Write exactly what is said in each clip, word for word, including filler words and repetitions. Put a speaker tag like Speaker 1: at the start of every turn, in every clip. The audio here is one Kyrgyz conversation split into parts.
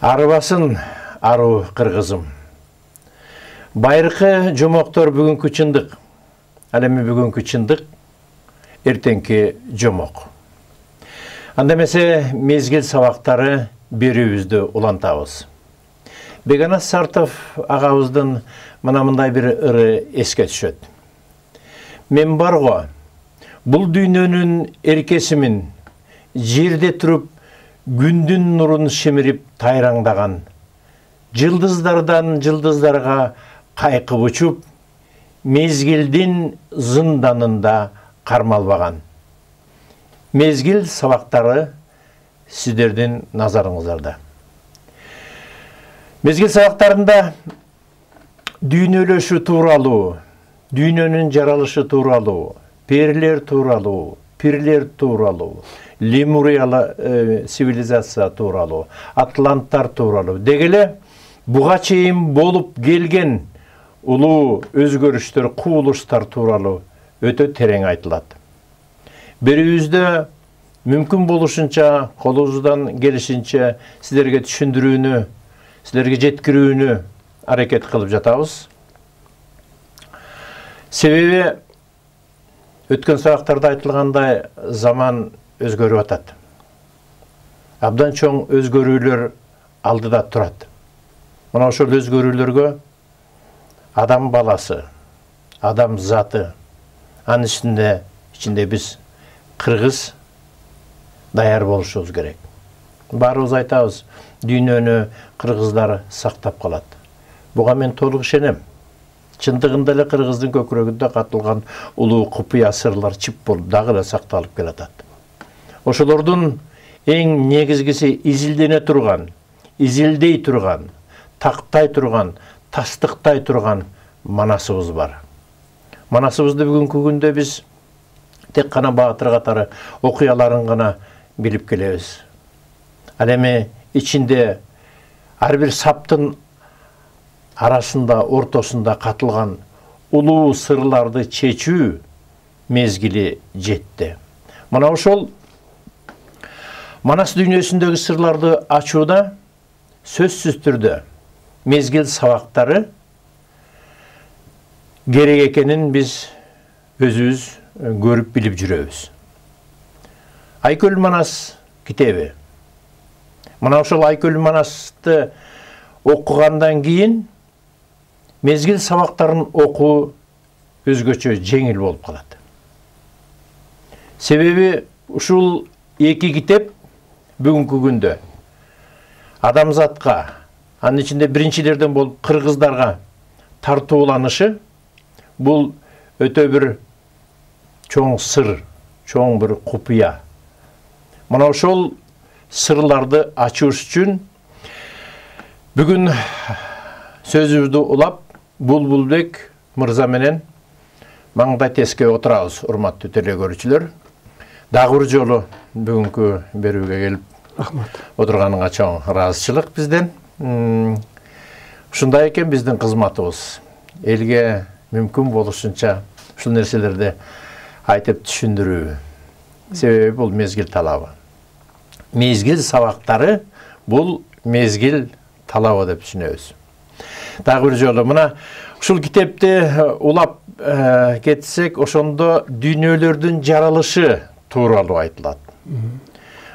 Speaker 1: Арыбасын ару кыргызым. Байыркы жомоктор бүгүнкү чындык. Ал эми бүгүнкү чындык эртеңки жомок. Анда эмесе мезгил сабактары берүүбүздү улантабыз. Бегана Сартов агабыздын мына мындай бир ыры эске түшөт. Мен барго, бул дүйнөнүн эркесимин, жерде туруп күндүн нурун шемирип тайраңдаган, жылдыздардан жылдыздарга кайкып учуп, мезгилдин зынданында кармалбаган. Мезгил сабактары сиздердин назарыңыздарда. Мезгил сабактарында дүйнөлөшүү тууралуу, дүйнөнүн жаралышы тууралуу, перилер тууралуу, пирлер тууралуу, Лемуриялы э, цивилизация тууралуу, атланттар тууралуу дегеле буга чейин болуп келген улуу өзгөрүштөр, кубулуштар тууралуу өтө терең айтылат. Берүүбүздө мүмкүн болушунча, колубуздан келишинче силерге түшүндүрүүнү, силерге жеткирүүнү аракет кылып жатабыз. Себеби өткөн сабактарда айтылгандай заман өзгөрүп атат. Абдан чоң өзгөрүүлөр алдыда турат. Мына ошол өзгөрүүлөргө адам баласы, адам заты, анын ичинде ичинде биз кыргыз даяр болушубуз керек. Баарыбыз айтабыз, дүйнөнү кыргыздар сактап калат. Буга мен толук ишенем. Чындыгында эле кыргыздын көкүрөгүндө катылган улуу купуя сырлар чип болуп дагы эле сакталып келатат. Ошолордун эң негизгиси изилдене турган, изилдей турган, тактай турган, тастыктай турган манасыбыз бар. Манасыбызды бүгүнкү күндө биз тек кана баатыр катары окуяларын гана билип келебиз. Ал эми ичинде ар бир саптын арасында, ортосунда катылган улуу сырларды чечүү мезгили жетти. Мына ошол Манас дүйнөсүндөгү сырларды ачууда сөзсүз түрдө мезгил сабактары керек экенин биз өзүбүз көрүп билип жүрөбүз. Айкөл Манас китеби. Мына ошол Айкөл Манасты окугандан кийин мезгил сабактарын окуу өзгөчө жеңил болуп калат. Себеби ушул эки китеп бүгүнкү күндө адамзатка, анын ичинде биринчилерден болуп кыргыздарга тартууланышы бул өтө бир чоң сыр, чоң бир купуя. Мына ошол сырларды ачыш үчүн бүгүн сөзүбүздү улап Булбулбек мырза менен маңдай теске отурабыз, урматтуу телекөрүүчүлөр. Дагы бир жолу бүгүнкү берүүгө келип рахмат отурганыңа чоң ыраазычылык бизден. Ушундай экен биздин кызматыбыз. Элге мүмкүн болушунча ушул нерселерди айтып түшүндүрүү. Себеби бул мезгил талабы. Мезгил сабактары бул мезгил талабы деп түшүнөбүз. Дагы бир жолу мына ушул китепти улап э, кетсек, ошондо дүйнөлөрдүн жаралышы тууралуу айтылат.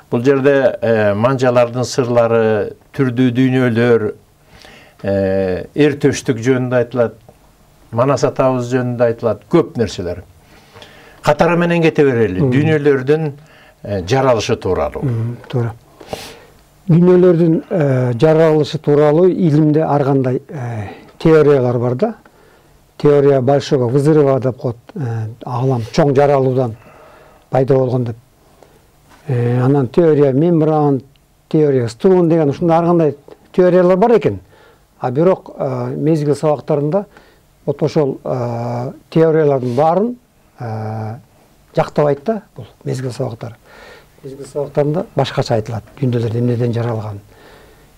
Speaker 1: Бул жерде э, манжалардын сырлары, түрдүү дүйнөлөр, э, эр төштүк жөнүндө айтылат, Манас атабыз жөнүндө айтылат, көп нерселер. Катары менен кете берели, дүйнөлөрдүн э, жаралышы тууралуу.
Speaker 2: Туура. Дүйнөлөрдүн э, жаралышы тууралуу илимде ар кандай э, теориялар бар да. Теория большого взрыва деп коет, э, аалам чоң жаралуудан пайда болгон деп. Э, анан теория мембран, теория струн деген ушундай ар кандай теориялар бар экен. А бирок э, мезгил сабактарында вот ошол э, теориялардын баарын э, жактабайт да бул мезгил сабактары. Мезгил сабактарында башкача айтылат, дүйнөлөр эмнеден жаралган.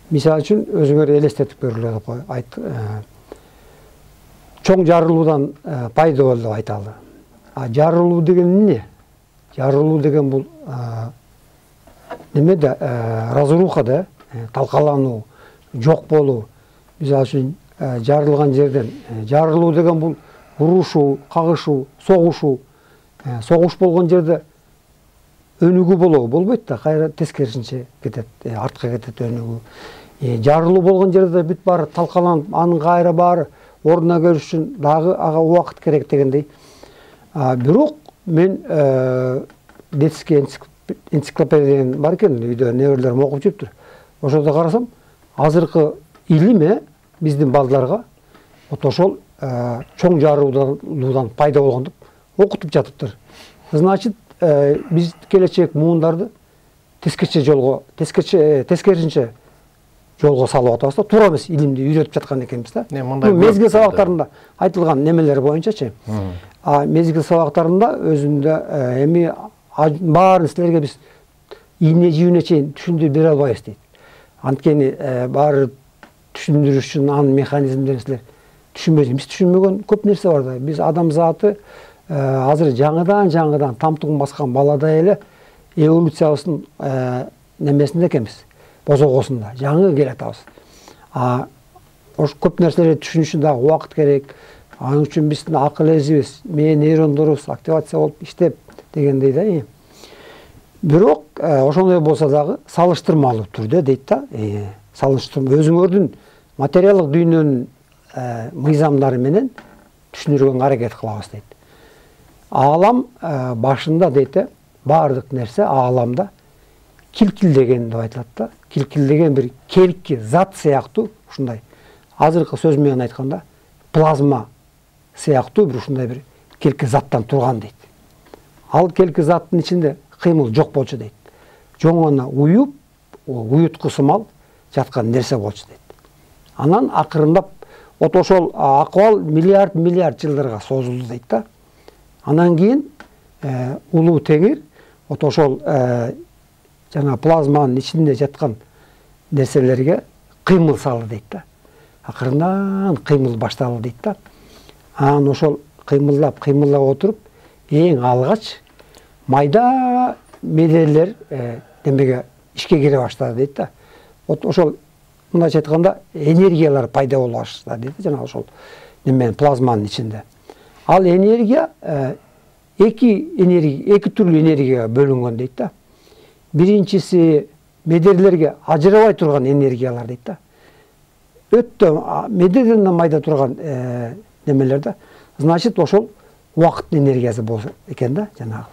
Speaker 2: Мисалы үчүн өзүңөр элестетип көргүлө деп айт. Чоң жарылуудан э, пайда болду деп айталы. А жарылуу деген эмне? Жарылуу деген бул неме да разруха да, талкалануу, жок болуу. Мисалы үчүн жарылган жерден жарылуу деген бул урушуу, кагышуу, согушуу. Согуш болгон жерде өнүгүү болобу? Болбойт да, кайра тескерисинче кетет, артка кетет өнүгүү. Жарылуу болгон жерде бүт баары талкаланып, анын кайра баары ордуна келиш үчүн дагы ага убакыт керек дегендей. Бирок мен детский энциклопедия бар экен, үйдө неберелерим окуп жүрүптүр. Ошодо карасам, азыркы илим биздин балдарга вот ошол чоң жарылуудан пайда болгон деп окутуп жатыптыр. Значит, биз келечек муундарды тескерче жолго, тескерче, тескерисинче жолго салып атабыз да, туура эмес илимди үйрөтүп жаткан экенбиз да. Мезгил сабактарында айтылган немелер боюнчачы. А мезгил сабактарында өзүндө эми баарын силерге биз ийне жибине чейин түшүндүрүп бере албайбыз дейт. Анткени баары түшүндүрүш үчүн анын механизмдерин силер түшүнбөйсүңөр. Биз түшүнмөгөн көп нерсе бар да. Биз адам заты азыр жаңыдан жаңыдан тамтугун баскан баладай эле эволюциябыздын немесинде экенбиз, бозогосунда жаңы келатабыз. А ош көп нерселерди түшүнүш үчүн дагы убакыт керек. Анын үчүн биздин акыл эзибиз, мээ нейрондорубуз активация болуп иштеп дегендей да. Бирок ошондой болсо дагы салыштырмалуу түрдө дейт да. Салыштырма өзүңөрдүн материалдык дүйнөнүн мыйзамдары менен түшүндүргөнгө аракет кылабыз дейт. Аалам башында дейт, баардык нерсе ааламда килкилдеген деп айтылат да. Килкилдеген бир келки зат сыяктуу, ушундай азыркы сөз менен айтканда плазма сыяктуу бир ушундай бир келки заттан турган дейт. Ал келки заттын ичинде кыймыл жок болчу дейт. Жоң гана уюп, уютку сымал жаткан нерсе болчу дейт. Анан акырындап вот ошол акыбал миллиард миллиард жылдарга созулду дейт да. Анан кийин улуу теңир вот ошол жана плазманын ичинде жаткан нерселерге кыймыл салды дейт да. Акырындан кыймыл башталды дейт да. Анан ошол кыймылдап, кыймылдап отуруп, эң алгач майда медерлер демеге ишке кире баштады дейт да. Вот ошол мындайча айтканда энергиялар пайда боло баштады дейт, жана ошол неменин плазманын ичинде. Ал энергия эки энергия, эки түрлүү энергияга бөлүнгөн дейт да. Биринчиси медерлерге ажырабай турган энергиялар дейт да. Өтө медерден майда турган немелер да. Значит, ошол убакыт энергиясы болсо экен да, жанагы.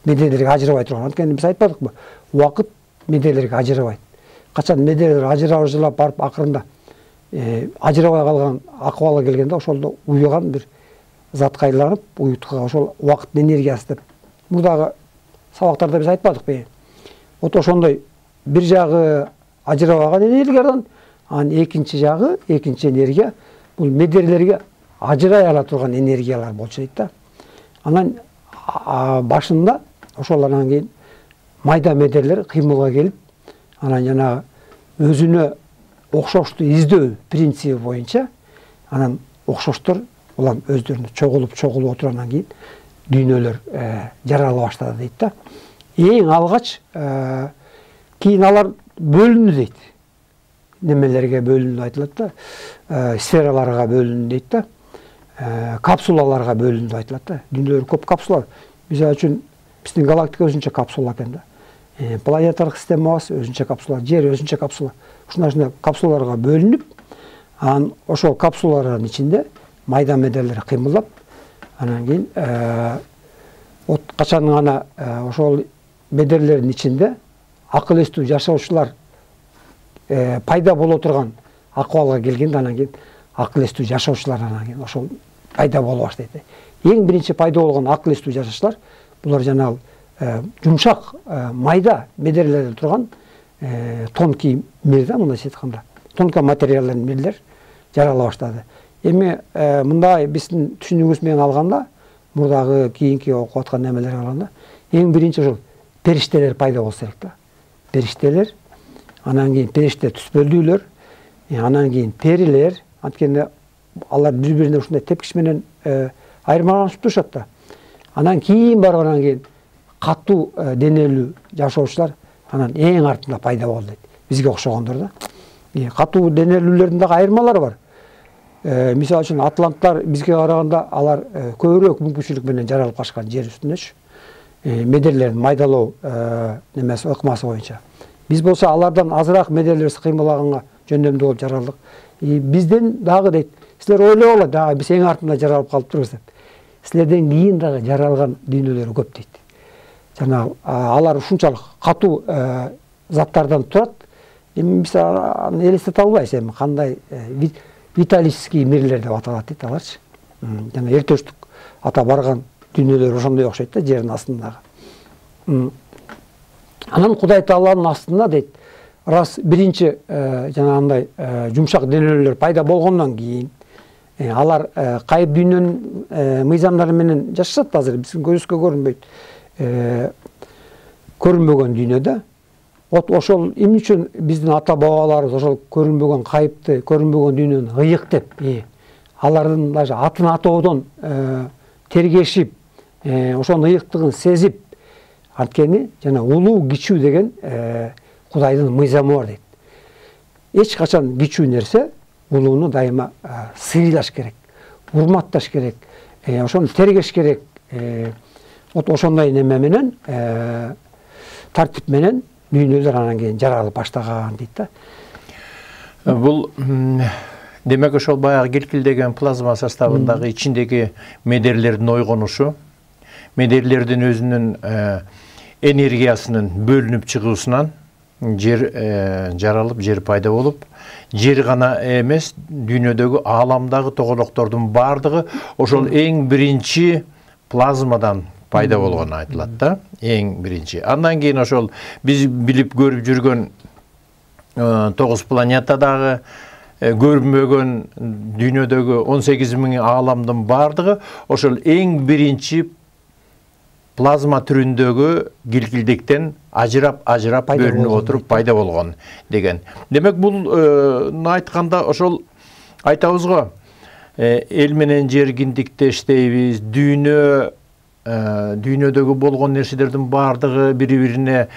Speaker 2: Медерлерге ажырабай турган. Анткени биз айтпадыкпы? Убакыт медерлерге ажырабайт. Качан медерлер ажырап барып акырында ажырабай калган акыбалга келгенде ошолдо уюган бир затка айланып, уюткага ошол убакыттын энергиясы деп мурдагы сабактарда биз айтпадыкпы? Вот ошондой бир жагы ажырабаган энергиядан, анан экинчи жагы, экинчи энергия бул медерлерге ажырай ала турган энергиялар болчу дейт да. Анан башында ошол анан кийин майда медерлер кыймылга келип, анан жана өзүнө окшошту издөө принциби боюнча анан окшоштор улам өздөрүнө чогулуп чогулуп отуруп анан кийин дүйнөлөр жарала баштады дейт да. Эң алгач кийин алар бөлүндү дейт. Немелерге бөлүндү айтылат да. Сфераларга бөлүндү дейт да. Капсулаларга бөлүндү айтылат да. Дүйнөлөр көп капсула. Мисалы үчүн биздин галактика өзүнчө капсула экен да. Планетарык системабыз өзүнчө капсула, жер өзүнчө капсула. Ушундай капсулаларга бөлүнүп, анан ошол капсулалардын ичинде майда медерлер кыймылдап, анан кийин вот качан гана ошол медерлердин ичинде акыл эстүү жашоочулар пайда боло турган акыбалга келгенде, анан кийин акыл эстүү жашоочулар анан кийин ошол пайда боло баштайт. Эң биринчи пайда болгон акыл эстүү жашоочулар булар жанагы жумшак майда медерлерден турган тонкий мир да, мындайча айтканда. Тонкий материалдын мирлер жарала баштады. Эми мындай биздин түшүнүгүбүз менен алганда, мурдагы кийинки окуп аткан немелерге алганда, эң биринчи ошол периштелер пайда болсо керек да. Периштелер, анан кийин периште түспөлдүүлөр, анан кийин перилер, анткени алар бири-бирине ушундай тепкич менен айырмаланышып турушат да. Анан кийин барып анан кийин катуу денелүү жашоочулар анан эң артында пайда болду дейт. Бизге окшогондор да. Катуу денелүүлөрдүн дагы айырмалары бар. Мисалы үчүн атланттар бизге караганда алар көбүрөөк мүмкүнчүлүк менен жаралып калышкан жер үстүндөчү. Медерлерин майдалоо немеси ыкмасы боюнча. Биз болсо алардан азыраак медерлерибиз кыймылдаганга жөндөмдүү болуп жаралдык. Бизден дагы дейт, силер ойлогула, дагы биз эң артында жаралып калыптырбыз деп. Силерден кийин дагы жаралган дүйнөлөр көп дейт. Жана алар ушунчалык катуу заттардан турат. Эми биз аны элестете албайбыз, эми кандай виталийский мирлер деп аталат дейт аларчы. Жана эртөштүк ата барган дүйнөлөр ошондой окшойт да, жердин астындагы. Анан Кудай Тааланын астында дейт, раз биринчи жанагындай жумшак денелүүлөр пайда болгондон кийин алар кайып дүйнөнүн мыйзамдары менен жашашат азыр, биздин көзүбүзгө көрүнбөйт. Көрүнбөгөн дүйнөдө. Вот ошол эмне үчүн биздин ата бабаларыбыз ошол көрүнбөгөн кайыпты, көрүнбөгөн дүйнөнү ыйык деп, алардын даже атын атоодон тергешип, ошонун ыйыктыгын сезип, анткени жана улуу кичүү деген Кудайдын мыйзамы бар дейт. Эч качан кичүү нерсе улууну дайыма сыйлаш керек, урматташ керек, ошону тергеш керек. Вот ошондой неме менен, тартип менен дүйнөлөр анан кийин жаралып баштаган дейт да.
Speaker 1: Бул демек ошол баягы килкилдеген плазма составындагы ичиндеги медерлердин ойгонушу, медерлердин өзүнүн энергиясынын бөлүнүп чыгуусунан жер жаралып, жер пайда болуп, жер гана эмес, дүйнөдөгү ааламдагы тоголоктордун бардыгы ошол эң биринчи плазмадан пайда болгону айтылат да, эң биринчи. Андан кийин ошол биз билип көрүп жүргөн тогуз планетадагы көрүнбөгөн дүйнөдөгү он сегиз миң ааламдын бардыгы ошол эң биринчи плазма түрүндөгү килкилдиктен ажырап ажырап бөлүнүп отуруп пайда болгон деген. Демек бул айтканда ошол айтабыз го, эл менен жер киндиктештейбиз, дүйнө дүйнөдөгү болгон нерселердин бардыгы бири-бирине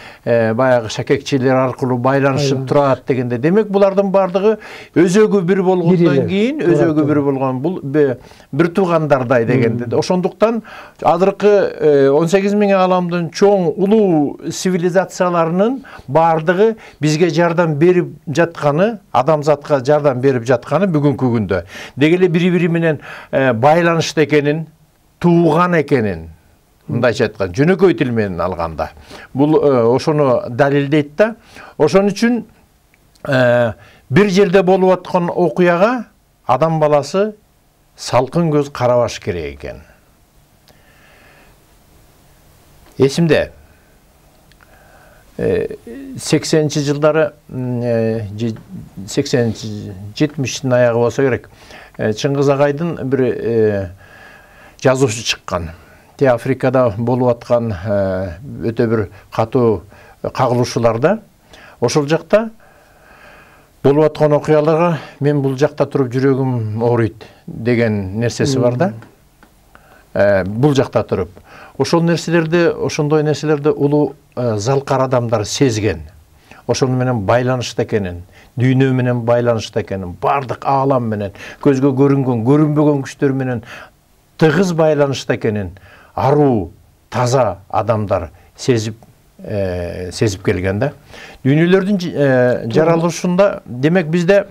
Speaker 1: баягы шакекчелер аркылуу байланышып турат дегенде, демек булардын бардыгы өзөгү бир болгондон кийин, өзөгү бир болгон бул бир туугандардай дегенде. Ошондуктан азыркы он сегиз миң ааламдын чоң улуу цивилизацияларынын бардыгы бизге жардам берип жатканы, адамзатка жардам берип жатканы бүгүнкү күндө деги эле бири-бири менен байланышта экенин, тууган экенин, мындайча айтканда, жөнөкөй тил менен алганда, бул ошону далилдейт да. Ошон үчүн бир жерде болуп аткан окуяга адам баласы салкын көз карабаш керек экен. Эсимде сексенинчи жылдары, сексенинчи жетимиштин аягы болсо керек, Чыңгыз Агайдын бир жазуучу чыккан. Те Африкада болуп аткан өтө бир катуу кагылышууларда, ошол жакта болуп аткан окуяларга мен бул жакта туруп жүрөгүм ооруйт деген нерсеси бар да. Бул жакта туруп. Ошол нерселерди, ошондой нерселерди улуу залкар адамдар сезген. Ошону менен байланышта экенин, дүйнө менен байланышта экенин, бардык аалам менен, көзгө көрүнгөн, көрүнбөгөн күчтөр менен тыгыз байланышта экенин аруу, таза адамдар сезип сезип келген да. Дүйнөлөрдүн жаралышында, демек бизде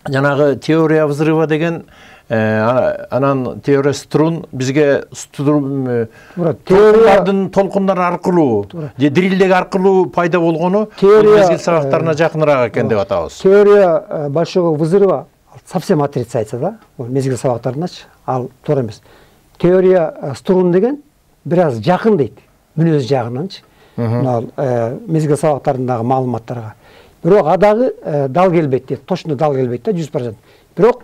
Speaker 1: жанагы теория взрыва деген, анан теория струн бизге теориялардын толкундар аркылуу, же дирилдеги аркылуу пайда болгону мезгил сабактарына жакыныраак экен деп атабыз.
Speaker 2: Теория большого взрыва совсем отрицается да, мезгил сабактарыначы, ал туура эмес. Теория струн деген бир аз жакын дейт, мүнөз жагынанчы. Мезгил сабактарындагы маалыматтарга. Бирок адагы дал келбейт дейт, точно дал келбейт да, жүз процент. Бирок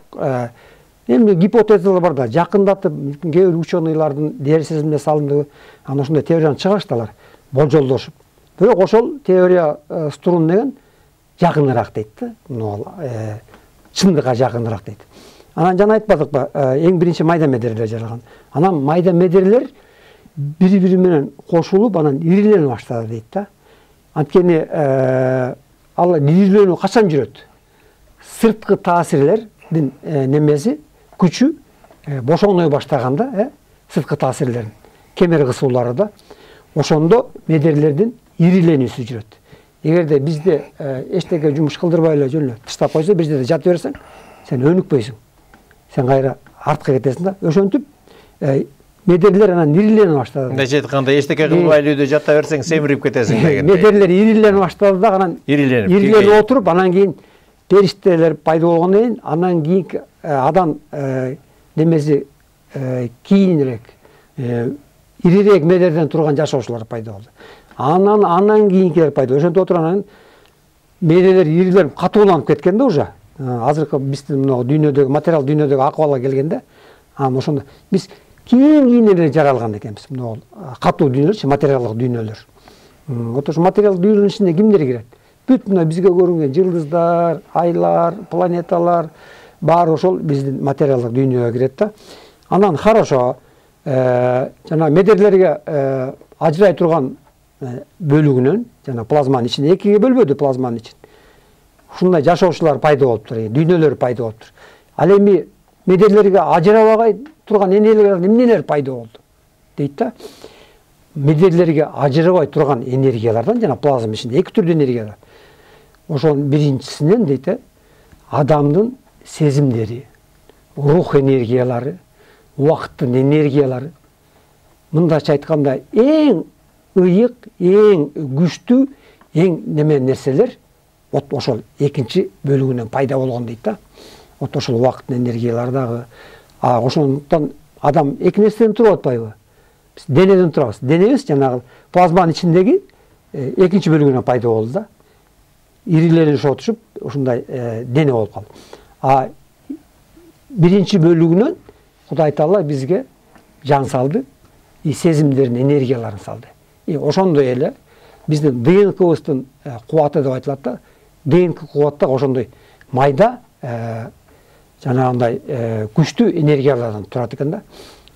Speaker 2: эми гипотезалар бар да, жакындатып кээ бир ученыйлардын дер сезимге салымдуу, анан ошондой теорияны чыгарышты алар, болжолдошуп. Бирок ошол теория струн деген жакыныраак дейт да, чындыкка жакыныраак дейт. Анан жана айтпадыкпы, эң биринчи майда медерлер жаралган. Анан майда медерлер бири-бири менен кошулуп, анан ирилене баштады дейт да. Анткени ал ириленүү качан жүрөт? сырткы таасирлердин немеси күчү бошоной баштаганда, э сырткы таасирлердин кемер кысуулары да ошондо медерлердин ириленүүсү жүрөт. Эгерде бизде эчтеке жумуш кылдырбай эле жөн эле таштап койсо, бир жерде жатып берсең, сен өнүкпөйсүң. Сен кайра артка кетесиң да. Ошентип медерлер анан ирилене баштады.
Speaker 1: Мындайча айтканда, эчтеке кылбай эле үйдө жата берсең, семирип кетесиң дегендей.
Speaker 2: Медерлер ирилене баштады да, анан
Speaker 1: ириленип,
Speaker 2: ириленип отуруп, анан кийин периштелер пайда болгондон кийин, анан кийин адам немеси кийинирээк, ирирээк медерден турган жашоочулар пайда болду. Анан анан кийинкилер пайда болду. Ошентип отуруп анан медерлер ириленип катууланып кеткен да уже. Азыркы биздин мына дүйнөдөгү материал дүйнөдөгү акыбалга келгенде, анан ошондо биз кийин-кийин эле жаралган экенбиз. Мына катуу дүйнөлөрчү, материалдык дүйнөлөр. Вот ошо материалдык дүйнөнүн ичине кимдер кирет? Бүт мына бизге көрүнгөн жылдыздар, айлар, планеталар баары ошол биздин материалдык дүйнөгө кирет да. Анан хорошо, жана медерлерге ажырай турган бөлүгүнөн, жана плазманын ичинде экиге бөлбөдү плазманын ичин. Ушундай жашоочулар пайда болуптур, дүйнөлөр пайда болуптур. Ал эми медерлерге ажырабагай турган энергиялар эмнелер пайда болду дейт да. Медерлерге ажырабай турган энергиялардан, жана плазма ичинде эки түрдүү энергиялар. Ошонун биринчисинен дейт, адамдын сезимдери, рух энергиялары, убакыттын энергиялары. Мындайча айтканда, эң ыйык, эң күчтүү, эң неме нерселер вот ошол экинчи бөлүгүнөн пайда болгон дейт да. Вот ошол убакыттын энергиялары дагы. А ошондуктан адам эки нерседен туруп атпайбы? Биз денеден турабыз. Денебиз жанагы плазманын ичиндеги экинчи бөлүгүнөн пайда болду да. Ириленип отушуп, ушундай дене болуп калды. А биринчи бөлүгүнөн Кудай Таала бизге жан салды, и сезимдердин энергияларын салды. И ошондой эле биздин ДНКбыздын кубаты деп айтылат да. ДНК кубатта ошондой майда жанагындай күчтүү энергиялардан турат экен да.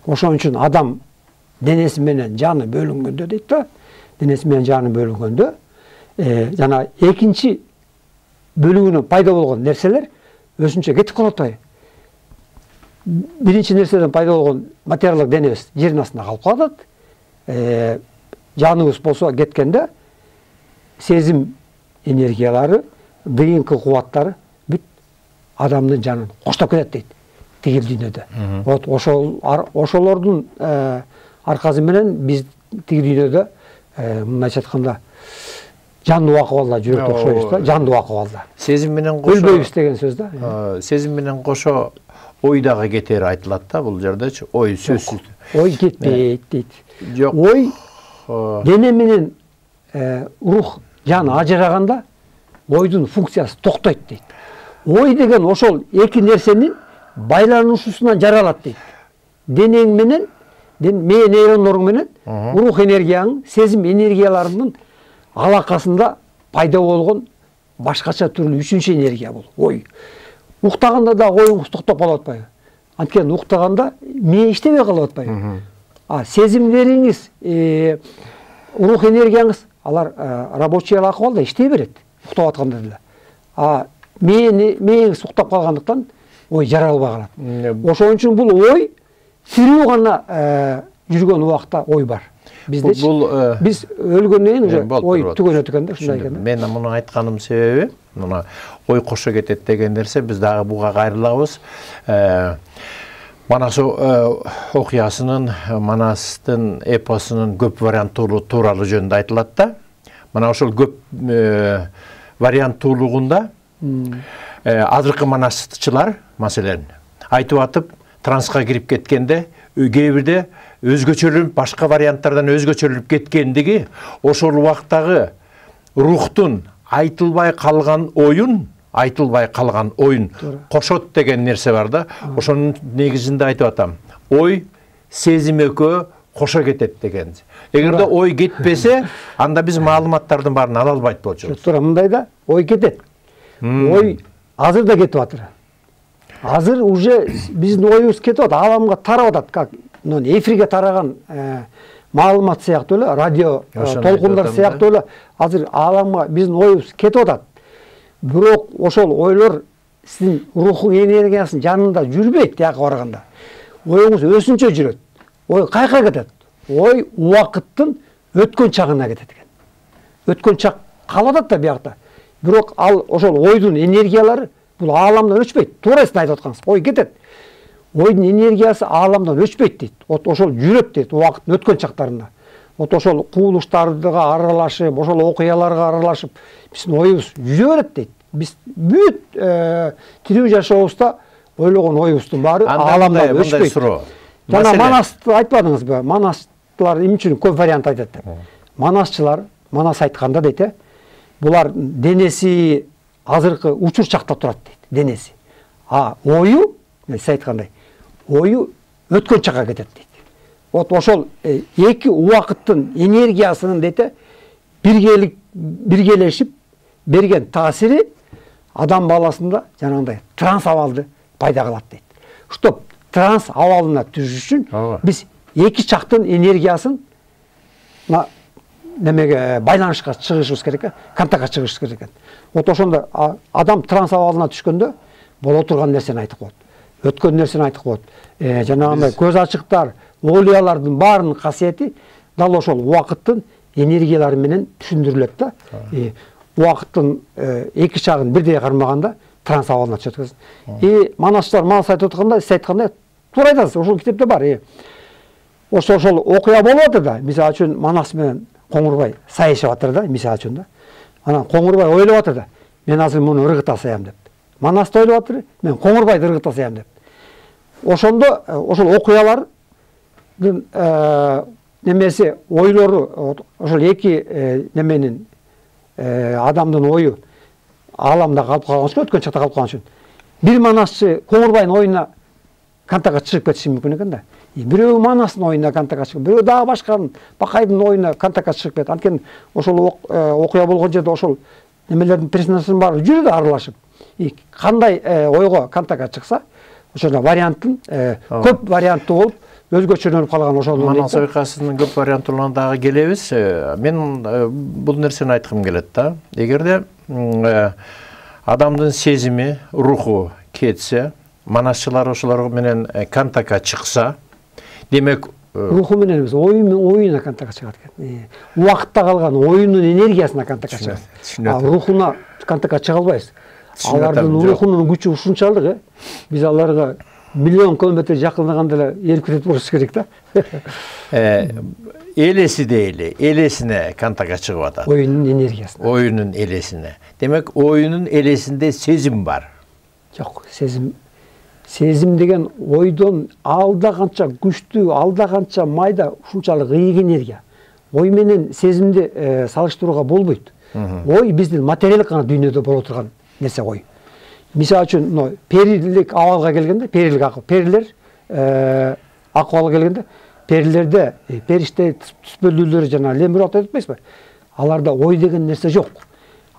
Speaker 2: Ошон үчүн адам денеси менен жаны бөлүнгөндө дейт да, денеси менен жаны бөлүнгөндө жана экинчи бөлүгүнөн пайда болгон нерселер өзүнчө кетип калып атпайбы? Биринчи нерседен пайда болгон материалдык денебиз жердин астында калып калат. Жаныбыз болсо кеткенде сезим энергиялары, ДНК кубаттары бүт адамдын жанын коштоп кетет дейт тигил дүйнөдө. Вот ошол ошолордун аркасы менен биз тигил дүйнөдө мындайча айтканда жандуу акыбалда жүрөт окшойбуз да, жандуу акыбалда.
Speaker 1: Сезим менен кошо
Speaker 2: өлбөйбүз деген сөз да.
Speaker 1: Сезим менен кошо ой дагы кетери айтылат да бул жердечи. Ой сөзсүз.
Speaker 2: Ой кетпейт дейт.
Speaker 1: Жок.
Speaker 2: Ой дене менен рух, жан ажыраганда ойдун функциясы токтойт дейт. Ой деген ошол эки нерсенин байланышуусунан жаралат дейт. Денең менен, мээ нейрондоруң менен рух энергияң, сезим энергияларынын алакасында пайда болгон башкача түрлүү үчүнчү энергия бул. Ой. Уктаганда да оюңуз токтоп калып атпайбы? Анткени уктаганда мээ иштебей калып атпайбы? А сезимдериңиз, рух энергияңыз алар рабочий акыбалда иштей берет, уктап атканда деле. А мээңиз уктап калгандыктан ой жаралбай калат. Ошон үчүн бул ой тирүү гана жүргөн убакта ой бар. Биздечи биз өлгөндөн кийин уже ой түгөнөт экен да, ушундай экен да.
Speaker 1: Мен муну айтканым себеби, мына ой кошо кетет деген нерсе биз дагы буга кайрылабыз. Манас окуясынын, Манастын эпосунун көп варианттуулугу тууралуу жөнүндө айтылат да. Мына ошол көп варианттуулугунда азыркы манастчылар, маселен, айтып атып, транска кирип кеткенде, кээ бирде өзгөчөлүнүп, башка варианттардан өзгөчөлүнүп кеткендиги, ошол убактагы рухтун айтылбай калган оюн, айтылбай калган оюн кошот деген нерсе бар да. Ошонун негизинде айтып атам. Ой, сезим экөө кошо кетет деген. Эгерде ой кетпесе, анда биз маалыматтардын баарын ала албайт болчубуз.
Speaker 2: Туура мындай да, ой кетет. Ой азыр да кетип атыр. Азыр уже биздин оюбуз кетип атат, ааламга тарап атат, как эфирге тараган маалымат сыяктуу эле, радио толкундар сыяктуу эле азыр ааламга биздин оюбуз кетип атат. Бирок ошол ойлор сиздин рухуң энергиясынын жанында жүрбөйт, тияка барганда. Оюңуз өсүнчө жүрөт. Ой кайка кетет. Ой убакыттын өткөн чагына кетет экен. Өткөн чак калып атат да биякта. Бирок ал ошол ойдун энергиялары бул ааламдан өчпөйт. Туура сиз айтып аткансыз. Ой кетет. Ойдун энергиясы ааламдан өчпөйт дейт. Вот ошол жүрөт дейт убакыттын өткөн чактарында. Вот ошол кубулуштарга аралашып, ошол окуяларга аралашып, биздин оюбуз жүрө берет дейт. Биз бүт тирүү жашообузда ойлогон оюбуздун баары ааламдан өчпөйт. Жана Манасты айтпадыңызбы? Манастылар эмне үчүн көп вариант айтат деп. Манасчылар, Манас айтканда дейт, булар денеси азыркы учур чактап турат дейт, денеси. А ою, сиз айткандай, ою өткөн чакка кетет дейт. Вот ошол эки убакыттын энергиясынын дейт, биргелик биргелешип берген таасири адам баласында жанагындай транс абалды пайда кылат дейт. Чтоб транс абалына түшүш үчүн биз эки чактын энергиясын немеге байланышка чыгышыбыз керек, контактка чыгышыбыз керек экен. Вот ошондо адам транс абалына түшкөндө боло турган нерсени айтып коет. Өткөн нерсени айтып коет. Жанагындай көз ачыктар, олиялардын баарынын касиети дал ошол убакыттын энергиялары менен түшүндүрүлөт да. Убакыттын эки чагын бирдей кармаганда транс абалына түшөт. И Манасчылар Манас айтып атканда, сиз айткандай туура айтасыз. Ошол китепте бар. Ошо ошол окуя болуп атыр да. Мисалы үчүн Манас менен Коңурбай сайышып атыр да, мисалы үчүн да. Анан Коңурбай ойлоп атыр да. Мен азыр муну ыргыта саям деп. Манас да ойлоп атыр, мен Коңурбайды ыргыта саям деп. Ошондо ошол окуялардын немеси, ойлору, ошол эки неменин адамдын ою ааламда калып калган үчүн, өткөн чакта калып калган үчүн бир Манасчы Коңурбайдын оюна контактка чыгып кетиши мүмкүн экен да. Бирөө Манастын оюна контактка чыгып, бирөө дагы башканын Бакайдын оюна контактка чыгып кетет. Анткени ошол окуя болгон жерде ошол немелердин персонаждын баары жүрөт аралашып. Кандай ойго контактка чыкса, ошол варианттын көп варианттуу болуп, өзгөчөлөнүп калган ошол
Speaker 1: Манас ойкасынын көп варианттууларына дагы келебиз. Мен бул нерсени айткым келет да. Эгерде адамдын сезими, руху кетсе, Манасчылар ошолор менен контактка чыкса, демек
Speaker 2: руху менен эмес, оюна контактка чыгат экен. Убакытта калган оюнун энергиясына контактка чыгат. А рухуна контактка чыга албайбыз. Алардын рухунун күчү ушунчалык, биз аларга миллион километр жакындаганда эле эрип кетет болушубуз керек да.
Speaker 1: Элеси дейли, элесине контактка чыгып атат.
Speaker 2: Оюнун энергиясына.
Speaker 1: Оюнун элесине. Демек, оюнун элесинде сезим бар.
Speaker 2: Жок, сезим сезим деген ойдон алда канча күчтүү, алда канча майда ушунчалык ыйык энергия. Ой менен сезимди салыштырууга болбойт. Ой биздин материалдык гана дүйнөдө боло турган нерсе ой. Мисалы үчүн, мына перилик абалга келгенде, перилик акыл, перилер акыбалга келгенде, перилерде периште түспөлүүлөр жана лемурат айтып атпайсызбы? Аларда ой деген нерсе жок.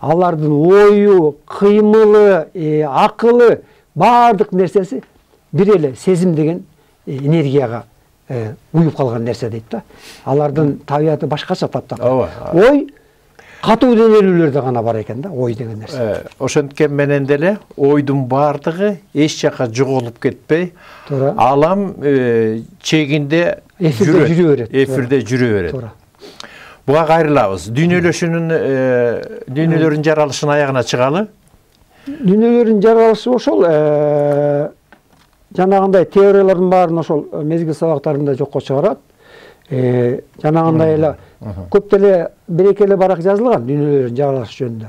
Speaker 2: Алардын ою, кыймылы, акылы, бардык нерсеси бир эле сезим деген энергияга уюп калган нерсе дейт да. Алардын табияты башкача таптак. Ой катуу денелүүлөрдө гана бар экен да, ой деген нерсе.
Speaker 1: Ошенткен менен деле ойдун бардыгы эч жака жоголуп кетпей, алам чегинде
Speaker 2: жүрө берет.
Speaker 1: Эфирде жүрө берет. Буга кайрылабыз. Дүйнөлөшүүнүн дүйнөлөрдүн жаралышынын аягына чыгалы.
Speaker 2: Дүйнөлөрдүн жаралышы ошол жанагындай теориялардын баарын ошол мезгил сабактарында жокко чыгарат. Жанагындай эле көп деле бир-эки эле барак жазылган дүйнөлөрдүн жаралышы жөнүндө.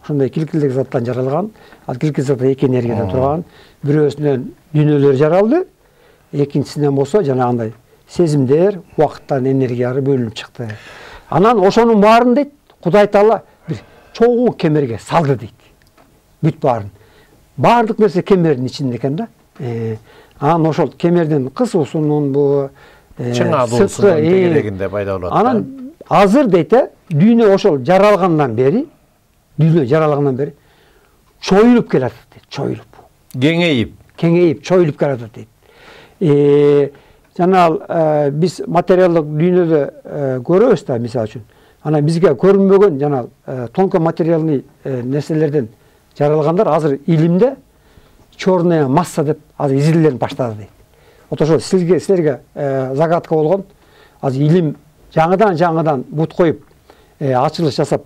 Speaker 2: Ошондой килкилдик заттан жаралган, ал килкилдик зат эки энергиядан турган. Бирөөсүнөн дүйнөлөр жаралды, экинчисинен болсо жанагындай сезимдер, убакыттан энергиялары бөлүнүп чыкты. Анан ошонун баарын дейт, Кудай Таала бир чоң кемерге салды дейт. Бүт баарын. Бардык нерсе кемердин ичинде экен да. Анан ошол кемердин кысуусунун бу
Speaker 1: чыңалуусунун тегерегинде пайда болот.
Speaker 2: Анан азыр дейт, дүйнө ошол жаралгандан бери, дүйнө жаралгандан бери чоюлуп келатат дейт, чоюлуп.
Speaker 1: Кеңейип,
Speaker 2: кеңейип, чоюлуп келатат дейт. Жана биз материалдык дүйнөдө көрөбүз да, мисалы үчүн. Анан бизге көрүнбөгөн жана тонко материалный нерселерден жаралгандар азыр илимде черная масса деп азыр изилденип баштады дейт. Вот ошол силерге силерге загадка болгон азыр илим жаңыдан жаңыдан бут коюп ачылыш жасап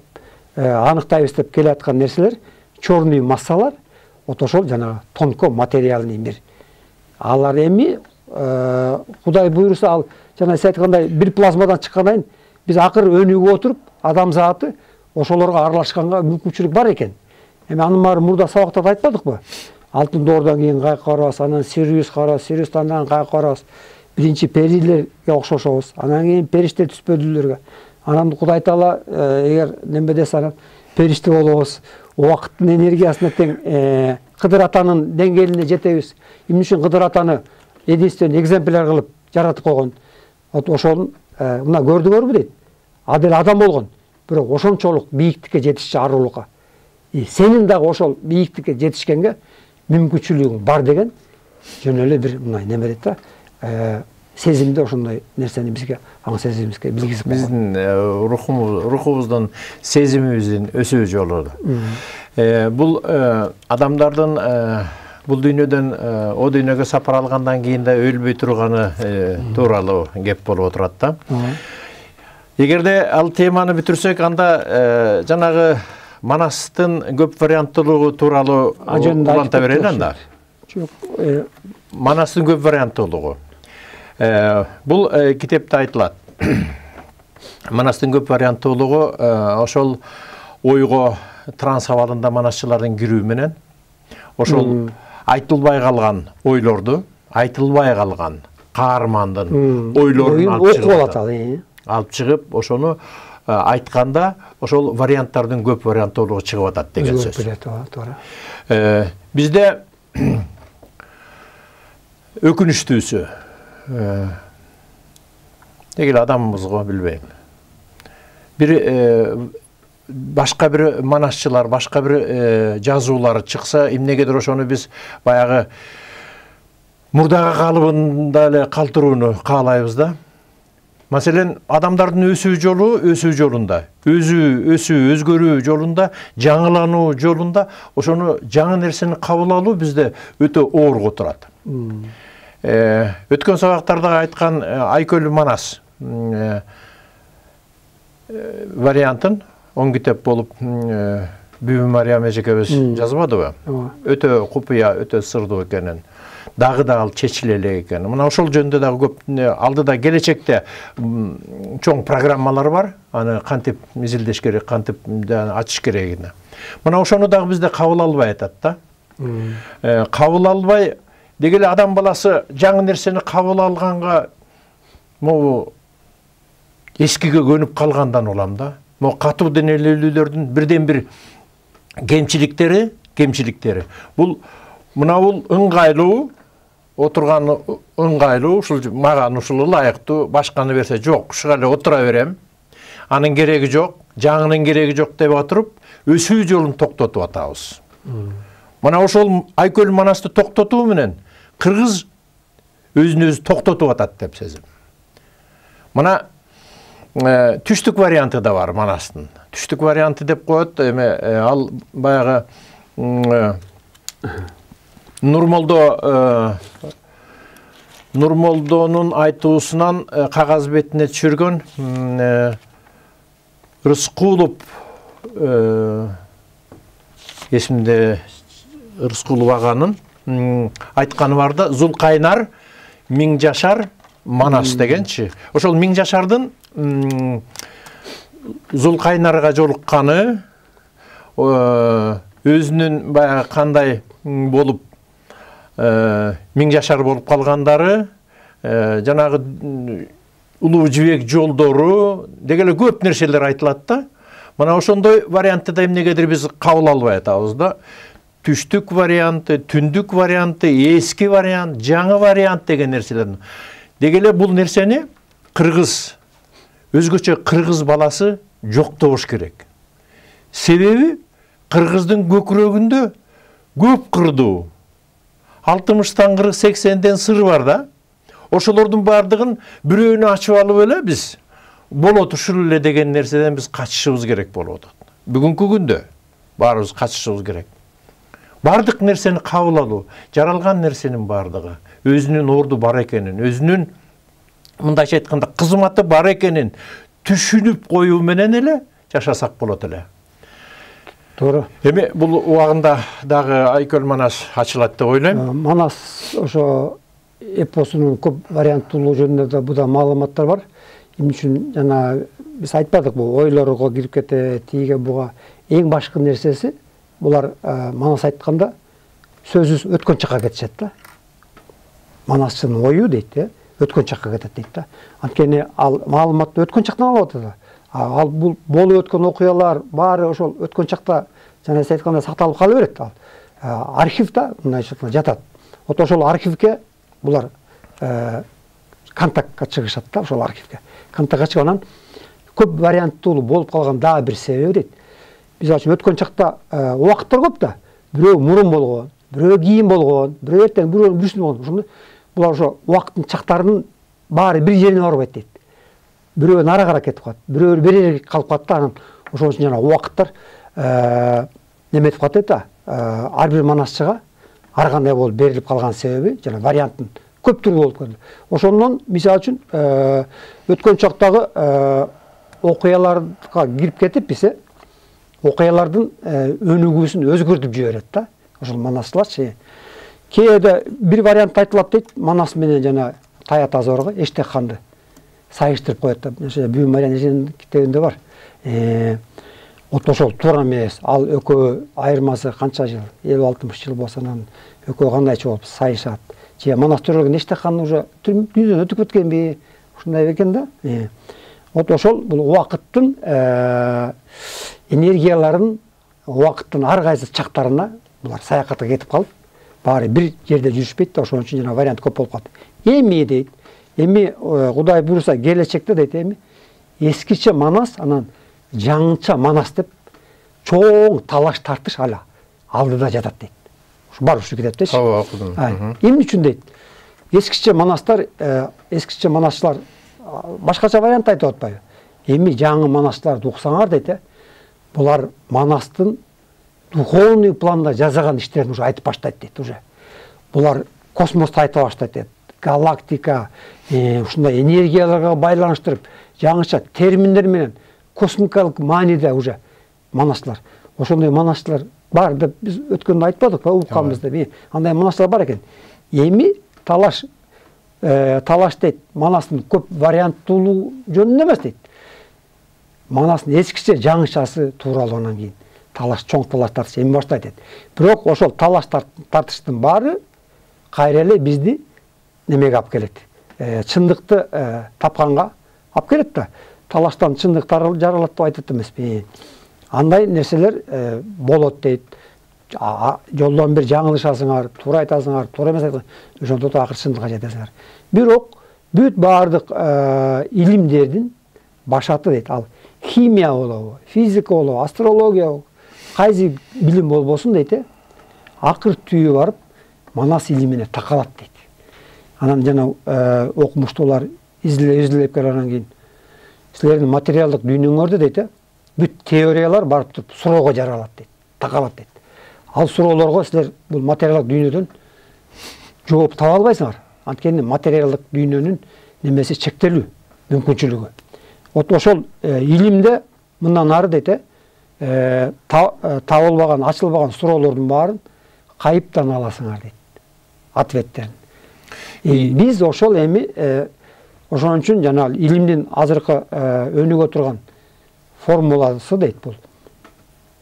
Speaker 2: аныктайбыз деп келаткан нерселер черный массалар. Вот ошол жанагы тонко материальный мир. Алар эми Кудай буйруса ал жана сиз айткандай бир плазмадан чыккандан кийин биз акыр өнүгүп отуруп адам заты ошолорго аралашканга мүмкүнчүлүк бар экен. Эми анын баары мурда сабактарда айтпадыкпы? Алтын доордон кийин кайка карабыз, анан Сириус карабыз, Сириустан анан кайка карабыз. Биринчи перилерге окшошобуз, анан кийин периште түспөдүлөргө. Анан Кудай Таала эгер неме десе анан периште болобуз. Убакыттын энергиясына тең Кыдыр атанын деңгээлине жетебиз. Эмне үчүн Кыдыр атаны единственный экземпляр кылып жаратып койгон. Вот ошол мына көрдүңөрбү дейт. Адил адам болгон, бирок ошончолук бийиктикке жетишчү арулукка. И сенин дагы ошол бийиктикке жетишкенге мүмкүнчүлүгүң бар деген жөн эле бир мындай неме дейт да. Сезимде ошондой нерсени бизге, аң сезимибизге билгизип койгон.
Speaker 1: Биздин рухубуз, рухубуздун сезимибиздин өсүү жолу. Бул адамдардын бул дүйнөдөн о дүйнөгө сапар алгандан кийин да өлбөй турганы тууралуу кеп болуп отурат да. Эгерде ал теманы бүтүрсөк, анда жанагы Манастын көп варианттуулугу тууралуу уланта берели анда.
Speaker 2: Жок,
Speaker 1: Манастын көп варианттуулугу. Бул китепте айтылат. Манастын көп варианттуулугу ошол ойго транс абалында манасчылардын кирүү менен ошол айтылбай калган ойлорду, айтылбай калган каармандын ойлорун алып чыгып, ошону айтканда ошол варианттардын көп варианттуулугу чыгып атат деген сөз. Бизде өкүнүчтүүсү дегил адамыбызго билбейм. Бир башка бир манасчылар, башка бир жазуулар чыкса, эмнегедир ошону биз баягы мурдагы калыбында эле калтырууну каалайбыз да. Маселен, адамдардын өсүү жолу, өсүү жолунда, өзү, өсүү, өзгөрүү жолунда, жаңылануу жолунда ошону жаңы нерсени кабыл алуу бизде өтө оор турат. Өткөн сабактарда айткан Айкөл Манас вариантын он китеп болуп Бүбү Мариям эжекебиз жазбадыбы? Өтө купуя, өтө сырдуу экенин, дагы да ал чечиле элек экен. Мына ошол жөнүндө дагы көп алдыда келечекте чоң программалар бар. Аны кантип изилдеш керек, кантип ачыш керегине. Мына ошону дагы бизде кабыл албай атат да. Кабыл албай дегеле адам баласы жаңы нерсени кабыл алганга могу эскиге көнүп калгандан улам да. Мо катуу денелүүлөрдүн бирден бир кемчиликтери, кемчиликтери. Бул мына бул ыңгайлуу, отурган ыңгайлуу, ушул мага ушул ылайыктуу, башканы берсе жок, ушуга эле отура берем. Анын кереги жок, жаңынын кереги жок деп атырып, өсүү жолун токтотуп атабыз. Мына ошол Айкөл Манасты токтотуу менен кыргыз өзүн өзү токтотуп атат деп сезим. Мына түштүк варианты да бар Манастын. Түштүк варианты деп коет, эме ал баягы Нурмолдо Нурмолдонун айтуусунан кагаз бетине түшүргөн Рыскулов эсимде Рыскулов аганын айтканы бар да, Зулкайнар Миң жашар Манас дегенчи. Ошол Миң жашардын Зулкайнарга жолукканы, өзүнүн баягы кандай болуп Миң жашар болуп калгандары, жанагы улуу жибек жолдору дегеле көп нерселер айтылат да. Мына ошондой вариантты да эмнегедир биз кабыл албай атабыз да. Түштүк варианты, түндүк варианты, эски вариант, жаңы вариант деген нерселер. Дегеле бул нерсени кыргыз, өзгөчө кыргыз баласы жоктош керек. Себеби кыргыздын көкүрөгүндө көп кырдуу, алтымыштан кырк сексенден сыр бар да. Ошолордун бардыгын бирөөнү ачып алып эле биз болот ушул эле деген нерседен биз качышыбыз керек болуп атат. Бүгүнкү күндө баарыбыз качышыбыз керек. бардык нерсени кабыл алуу, жаралган нерсенин бардыгы өзүнүн орду бар экенин, өзүнүн мындайча айтканда кызматы бар экенин түшүнүп коюу менен эле жашасак болот эле.
Speaker 2: Туура.
Speaker 1: Эми бул убагында дагы Айкөл Манас ачылат деп ойлойм.
Speaker 2: Манас ошо эпосунун көп варианттуулугу жөнүндө да буда маалыматтар бар. Эмне үчүн жана биз айтпадык, бул ойлорго кирип кетет, тиге буга. Эң башкы нерсеси булар Манас айтканда сөзсүз өткөн чакка кетишет да. Манастын ою дейт, өткөн чакка кетет дейт да. Анткени ал маалыматты өткөн чактан алып атат. Ал бул болуп өткөн окуялар баары ошол өткөн чакта жана сиз айткандай сакталып кала берет. Ал архивда мындайча жатат. Вот ошол архивге булар контактка чыгышат да, ошол архивге. Контактка чыгып анан көп варианттуулуу болуп калган дагы бир себеби дейт. Биз ачып өткөн чакта убакыттар көп да. Бирөө мурун болгон, бирөө кийин болгон, бирөө эртең, бирөө бүрсүн болгон. Ошондо булар ошо убакыттын чактарынын баары бир жерине барбайт дейт. Бирөө нарыгыраак кетип калат, бирөө бери жерге калып калат да. Анан ошон үчүн жана убакыттар неме этип калат дейт да. Ар бир манасчыга ар кандай болуп берилип калган себеби жана варианттын көп түрү болуп калды. Ошондон мисалы үчүн өткөн чактагы окуяларга кирип кетип биз окуялардын өнүгүүсүн өзгөртүп жиберет да. Ошол манасчыларчы. Кээде бир вариант айтылат дейт, Манас менен жана Таят Азорго Эштек ханды сайыштырып коет да. Бүйүн Мариян китебинде бар. Вот ошол туура эмес. Ал экөө айырмасы канча жыл? элүү алтымыш жыл болсо анан экөө кандайча болуп сайышат. Же Манас төрөлгөн Эштек хан уже дүйнөдөн өтүп кеткенби? Ушундай экен да. Вот ошол бул убакыттын энергияларын убакыттын ар кайсы чактарына булар саякатка кетип калып, баары бир жерде жүрүшпөйт да, ошон үчүн жана вариант көп болуп калат. Эми дейт, эми Кудай буйруса келечекте дейт, эми эскиче Манас анан жаңыча Манас деп чоң талаш тартыш ала алдыда жатат дейт. Ушу бар ушу китептечи.
Speaker 1: Ооба, окудум.
Speaker 2: Эмне үчүн дейт? Эскиче Манастар, эскиче Манасчылар башкача вариант айтып атпайбы? Эми жаңы Манасчыларды уксаңар дейт, булар Манастын духовный планда жазаган иштерин уже айтып баштайт дейт уже. Булар космосту айта баштайт дейт. Галактика, ушундай энергияларга байланыштырып, жаңыча терминдер менен космикалык мааниде уже Манасчылар. Ошондой Манасчылар бар деп биз өткөндө айтпадыкпы, укканбыз деп. Андай Манасчылар бар экен. Эми талаш талаш дейт, Манастын көп варианттуулугу жөнүндө эмес дейт. Манастын эскиче жаңычасы тууралуу анан кийин талаш, чоң талаш тартыш эми баштайт дейт. Бирок ошол талаш тартыштын баары кайра эле бизди немеге алып келет. Чындыкты тапканга алып келет да. Талаштан чындык жаралат деп айтат эмеспи. Андай нерселер болот дейт. Жолдон бир жаңылышасыңар, туура айтасыңар, туура эмес айтасыңар, ошондо да акыр чындыкка жетесиңер. Бирок бүт баардык илимдердин башаты дейт. Ал химия болобу, физика болобу, астрология болобу, кайсы билим болбосун дейт, акыр түйү барып Манас илимине такалат дейт. Анан жана окумуштуулар изилдеп келгенден кийин силердин материалдык дүйнөңөрдө дейт, бүт теориялар барып туруп суроого жаралат дейт, такалат дейт. Ал суроолорго силер бул материалдык дүйнөдөн жооп таба албайсыңар. Анткени материалдык дүйнөнүн немеси чектелүү, мүмкүнчүлүгү. Вот ошол илимде мындан ары дейт, табылбаган, ачылбаган суроолордун баарын кайыптан аласыңар дейт, ответтерин. Биз ошол эми ошон үчүн жана илимдин азыркы өнүгө турган формуласы дейт бул.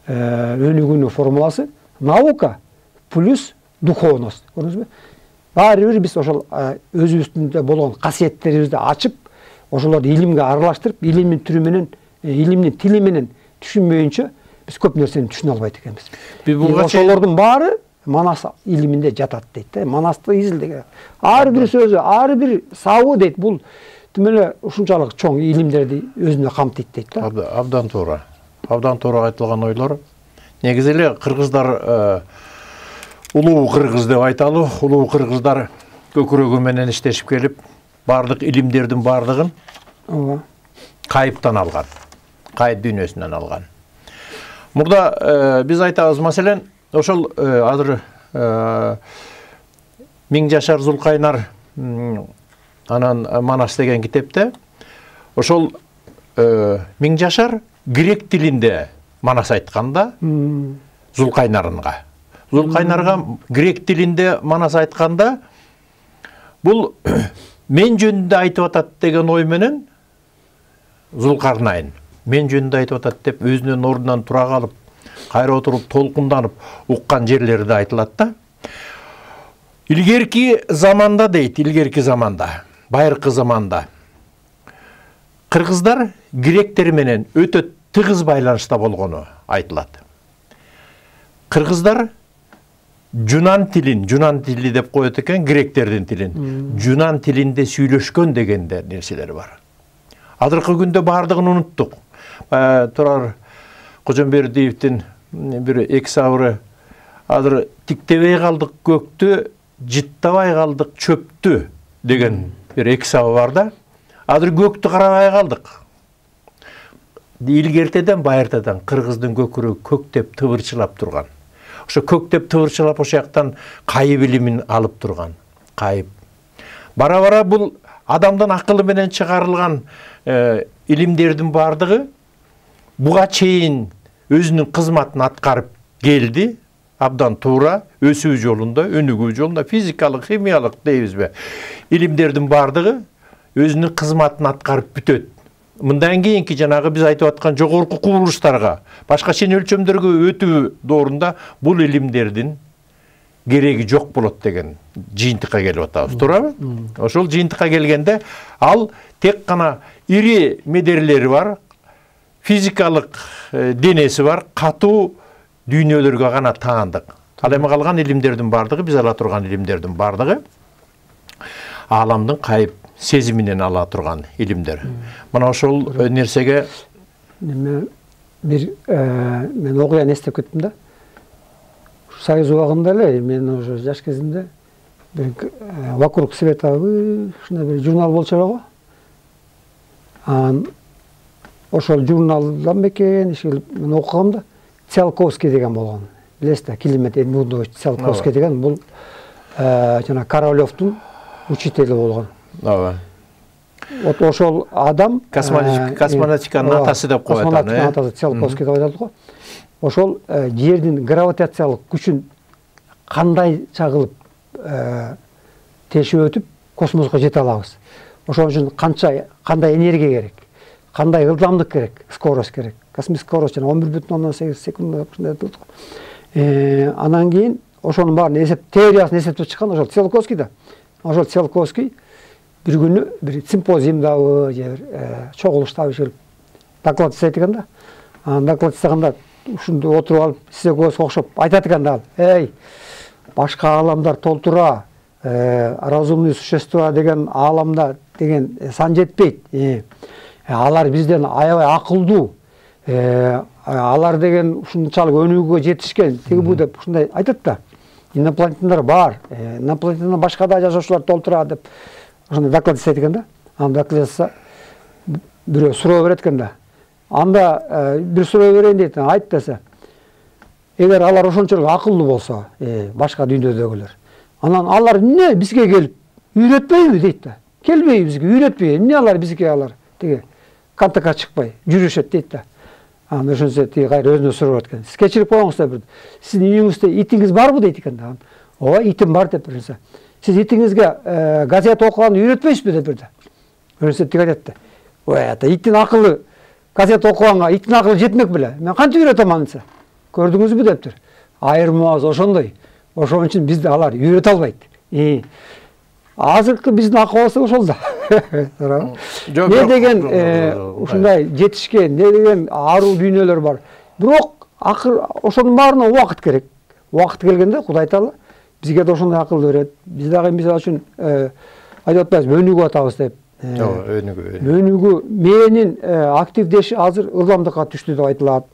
Speaker 2: Өнүгүүнүн формуласы наука плюс духовность. Көрдүңүзбү? Баары бир биз ошол өзүбүздүндө болгон касиеттерибизди ачып, ошолорду илимге аралаштырып, илимдин түрү менен, илимдин тили менен түшүнбөйүнчө биз көп нерсени түшүнө албайт экенбиз. Ошолордун баары Манас илиминде жатат дейт. Манасты изилдеген. Ар бир сөзү, ар бир сабы дейт, бул тим эле ушунчалык чоң илимдерди өзүнө камтыйт дейт.
Speaker 1: Абдан туура. Абдан туура айтылган ойлор. Негизи эле кыргыздар улуу кыргыз деп айталы, улуу кыргыздар көкүрөгү менен иштешип келип, бардык илимдердин бардыгын кайыптан алган, кайыт дүйнөсүнөн алган. Мурда биз айтабыз, маселен, ошол азыр Миң жашар Зулкайнар анан Манас деген китепте ошол Миң жашар грек тилинде Манас айтканда Зулкайнарынга. Зулкайнарга грек тилинде Манас айтканда бул мен жөнүндө айтып атат деген ой менен Зулкарнайын мен жөнүндө айтып атат деп өзүнүн ордунан тура калып, кайра отуруп толкунданып уккан жерлери да айтылат да. Илгерки заманда дейт, илгерки заманда, байыркы заманда кыргыздар гректер менен өтө тыгыз байланышта болгону айтылат. Кыргыздар Жунан тилин, Жунан тили деп коет экен, гректердин тилин. Жунан тилинде сүйлөшкөн дегенде нерселер бар. Азыркы күндө бардыгын унуттук. Турар Кожомбердиевдин бир эки сабыры азыр тиктебей калдык көктү, жыттабай калдык чөптү деген бир эки сабы бар да. Азыр көктү карабай калдык. Илгертеден байыртадан кыргыздын көкүрөгү көктеп тыбырчылап турган. Ошо көктеп тыбырчылап ошо жактан кайып илимин алып турган. Кайып. Бара-бара бул адамдын акылы менен чыгарылган илимдердин бардыгы буга чейин өзүнүн кызматын аткарып келди. Абдан туура, өсүү жолунда, өнүгүү жолунда, физикалык, химиялык дейбизби? Илимдердин бардыгы өзүнүн кызматын аткарып бүтөт. Мындан кийинки жанагы биз айтып аткан жогорку кубулуштарга, башка чен өлчөмдөргө өтүү доорунда бул илимдердин кереги жок болот деген жыйынтыкка келип атабыз, туурабы? Ошол жыйынтыкка келгенде ал тек гана ири медерлери бар, физикалык денеси бар, катуу дүйнөлөргө гана таандык. Ал эми калган илимдердин бардыгы, биз ала турган илимдердин бардыгы ааламдын кайып сезиминен ала турган илимдер. Мына ошол нерсеге
Speaker 2: неме бир мен окуян эстеп кеттим да. Союз убагында эле мен уже жаш кезимде бир «Вокруг света» ушундай бир журнал болчу эле го. Анан ошол журналдан бекен мен окугам да, Циолковский деген болгон. Билесиз, Климент Эдмундович Циолковский деген бул жана Королёвдун учители болгон.
Speaker 1: Ооба.
Speaker 2: Вот ошол адам
Speaker 1: космонавтиканын атасы деп коет аны.
Speaker 2: Космонавтиканын атасы Циолковский деп айтылат го. Ошол жердин гравитациялык күчүн кандай чагылып тешип өтүп космоско жете алабыз. Ошон үчүн канча кандай энергия керек, кандай ылдамдык керек, скорость керек. Космический скорость жана он бир бүтүн ондон сегиз секунд ушундай айтылат го. Анан кийин ошонун баарын эсеп теориясын эсептеп чыккан ошол Циолковский да. Ошол Циолковский бир күнү бир симпозиумдабы же бир чогулуштабы келип доклад жасайт экен да. Анан доклад жасаганда ушунда отуруп алып сизге окшоп айтат экен да. Эй, башка ааламдар толтура, разумный существа деген ааламда деген сан жетпейт. Алар бизден аябай акылдуу. Алар деген ушунчалык өнүгүүгө жетишкен, тиги бу деп ушундай айтат да. Инопланетяндар бар. Инопланетада башка да жашоочулар толтура деп ошондой доклад жасайт экен да. Анан доклад жасаса бирөө суроо берет экен да. Анда бир суроо берейин дейт, айт десе. Эгер алар ошончолук акылдуу болсо, башка дүйнөдөгүлөр, анан алар эмне бизге келип үйрөтпөйбү дейт да. Келбейби бизге, үйрөтпөйбү, эмне алар бизге алар тиги контактка чыкпай жүрүшөт дейт да. Анан ошончо тиги кайра өзүнө сурап экен. Сиз кечирип коюңуз да бир. Сиздин үйүңүздө итиңиз барбы дейт экен да. Ооба, итим бар деп берсе. Сиз итиңизге газета окуганды үйрөтпөйсүзбү деп берди. Ошончо тиги айтат да. Ой, ата иттин акылы газета окуганга иттин акылы жетмек беле. Мен кантип үйрөтөм аны десе. Көрдүңүзбү дептир. Айырмабыз ошондой. Ошон үчүн бизди алар үйрөтө албайт. Азыркы биздин акыбыз ошол да. Не деген ушундай жетишкен, не деген аруу дүйнөлөр бар. Бирок акыр ошонун баарына убакыт керек. Убакыт келгенде Кудай Таала бизге да ошондой акыл берет. Биз дагы мисалы үчүн айтып атпайбызбы, өнүгүп атабыз деп.
Speaker 1: Ооба, өнүгүү.
Speaker 2: Өнүгүү мээнин активдеши азыр ылдамдыкка түштү деп айтылат.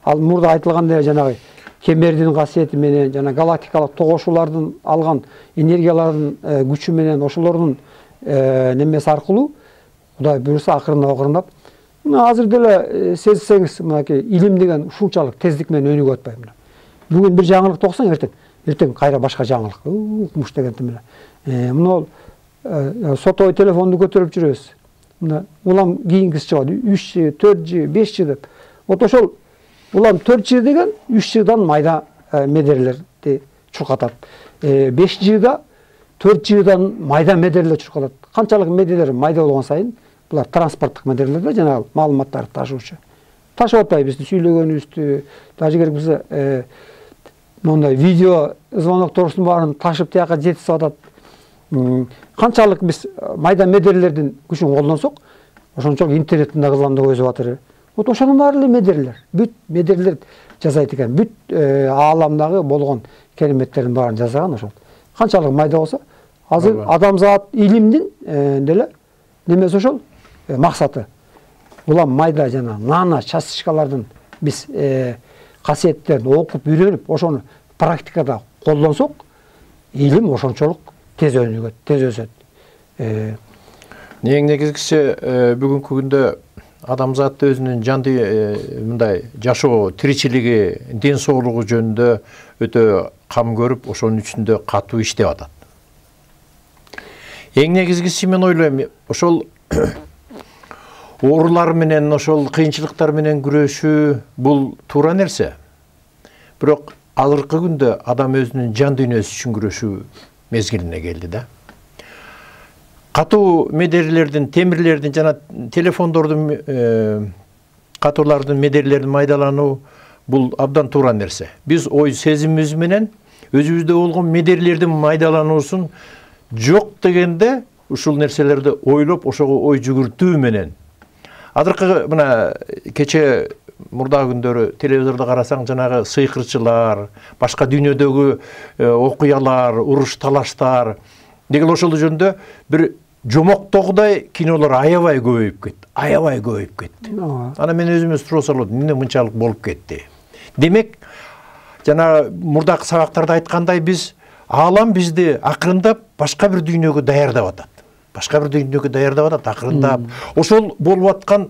Speaker 2: Ал мурда айтылгандай жанагы кемердин касиети менен жана галактикалык тогошуулардын алган энергиялардын күчү менен ошолордун немеси аркылуу Кудай буюрса акырындап акырындап мына азыр деле сезсеңиз, мынакей илим деген ушунчалык тездик менен өнүгүп атпайбы. бүгүн бир жаңылыкты окусаң, эртең эртең кайра башка жаңылык. Укмуш дегенди эле. Мына сотовый телефонду көтөрүп жүрөбүз. Мына улам кийингиси чыгат. үч жи, төрт жи, беш жи деп. Вот ошол улам төрт жи деген үч жидан майда медерлерди чуркатат. беш жида төрт жидан майда медерлер чуркатат. Канчалык медерлер майда болгон сайын булар транспорттук медерлер да, жанагы маалыматтарды ташуучу. Ташып атпайбыз сүйлөгөнүбүздү, даже керек болсо мондай видео звоноктордун баарын ташып тияка жеткизип атат. Канчалык биз майда медерлердин күчүн колдонсок, ошончолук интернеттин да ылдамдыгы өсүп атыр. Вот ошонун баары эле медерлер. Бүт медерлер жасайт экен. Бүт ааламдагы болгон кереметтердин баарын жасаган ошол. Канчалык майда болсо, азыр адамзат илимдин деле немеси ошол максаты. Улам майда жана нано частичкалардын биз касиеттерин окуп үйрөнүп, ошону практикада колдонсок, илим ошончолук тез өнүгөт, тез өсөт.
Speaker 1: Эң негизгиси бүгүнкү күндө адамзат өзүнүн жанды мындай жашоо, тиричилиги, ден соолугу жөнүндө өтө кам көрүп, ошонун үчүндө катуу иштеп атат. Эң негизгиси мен ойлойм, ошол оорулар менен, ошол кыйынчылыктар менен күрөшүү бул туура нерсе. Бирок азыркы күндө адам өзүнүн жан дүйнөсү үчүн күрөшүү мезгилине келди да. Катуу медерлердин, темирлердин жана телефондордун катуулардын медерлердин майдалануу бул абдан туура нерсе. Биз ой сезимибиз менен өзүбүздө болгон медерлердин майдалануусун жок дегенде ушул нерселерди ойлоп, ошого ой жүгүртүү менен. Азыркы мына кече мурдагы күндөрү телевизордо карасаң, жанагы сыйкырчылар, башка дүйнөдөгү окуялар, уруш талаштар деген ошол жөнүндө бир жомоктогудай кинолор аябай көбөйүп кетти. Аябай көбөйүп кетти. Ана мен өзүмө суроо салып, эмне мынчалык болуп кетти? Демек, жана мурдакы сабактарда айткандай, биз аалам бизди акырындап башка бир дүйнөгө даярдап атат. Башка бир дүйнөгө даярдап атат, акырындап. Ошол болуп аткан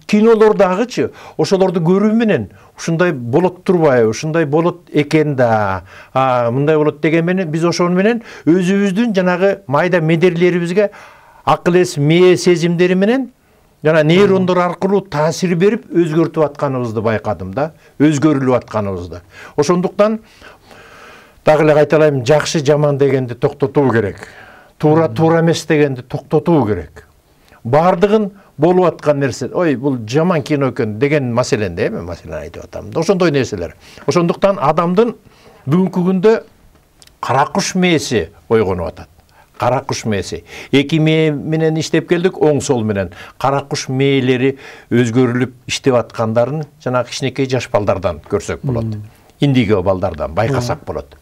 Speaker 1: кинолордагычы, ошолорду көрүү менен ушундай болот турбайбы, ушундай болот экен да, мындай болот деген менен биз ошол менен өзүбүздүн жанагы майда медерлерибизге акыл эс, мээ сезимдери менен жана нейрондор аркылуу таасир берип өзгөртүп атканыбызды байкадым да, өзгөрүлүп атканыбызды. Ошондуктан дагы эле кайталайм, жакшы жаман дегенди токтотуу керек. Туура туура эмес дегенди токтотуу керек. Бардыгын болуп аткан нерсе, ой, бул жаман кино экен деген маселенде, мен маселени айтып атам. Ошондой нерселер. Ошондуктан адамдын бүгүнкү күндө кара куш мээси ойгонуп атат. Кара куш мээси. Эки мээ менен иштеп келдик, оң сол менен. Кара куш мээлери өзгөрүлүп иштеп аткандарын жана кичинекей жаш балдардан көрсөк болот. Индиго балдардан байкасак болот.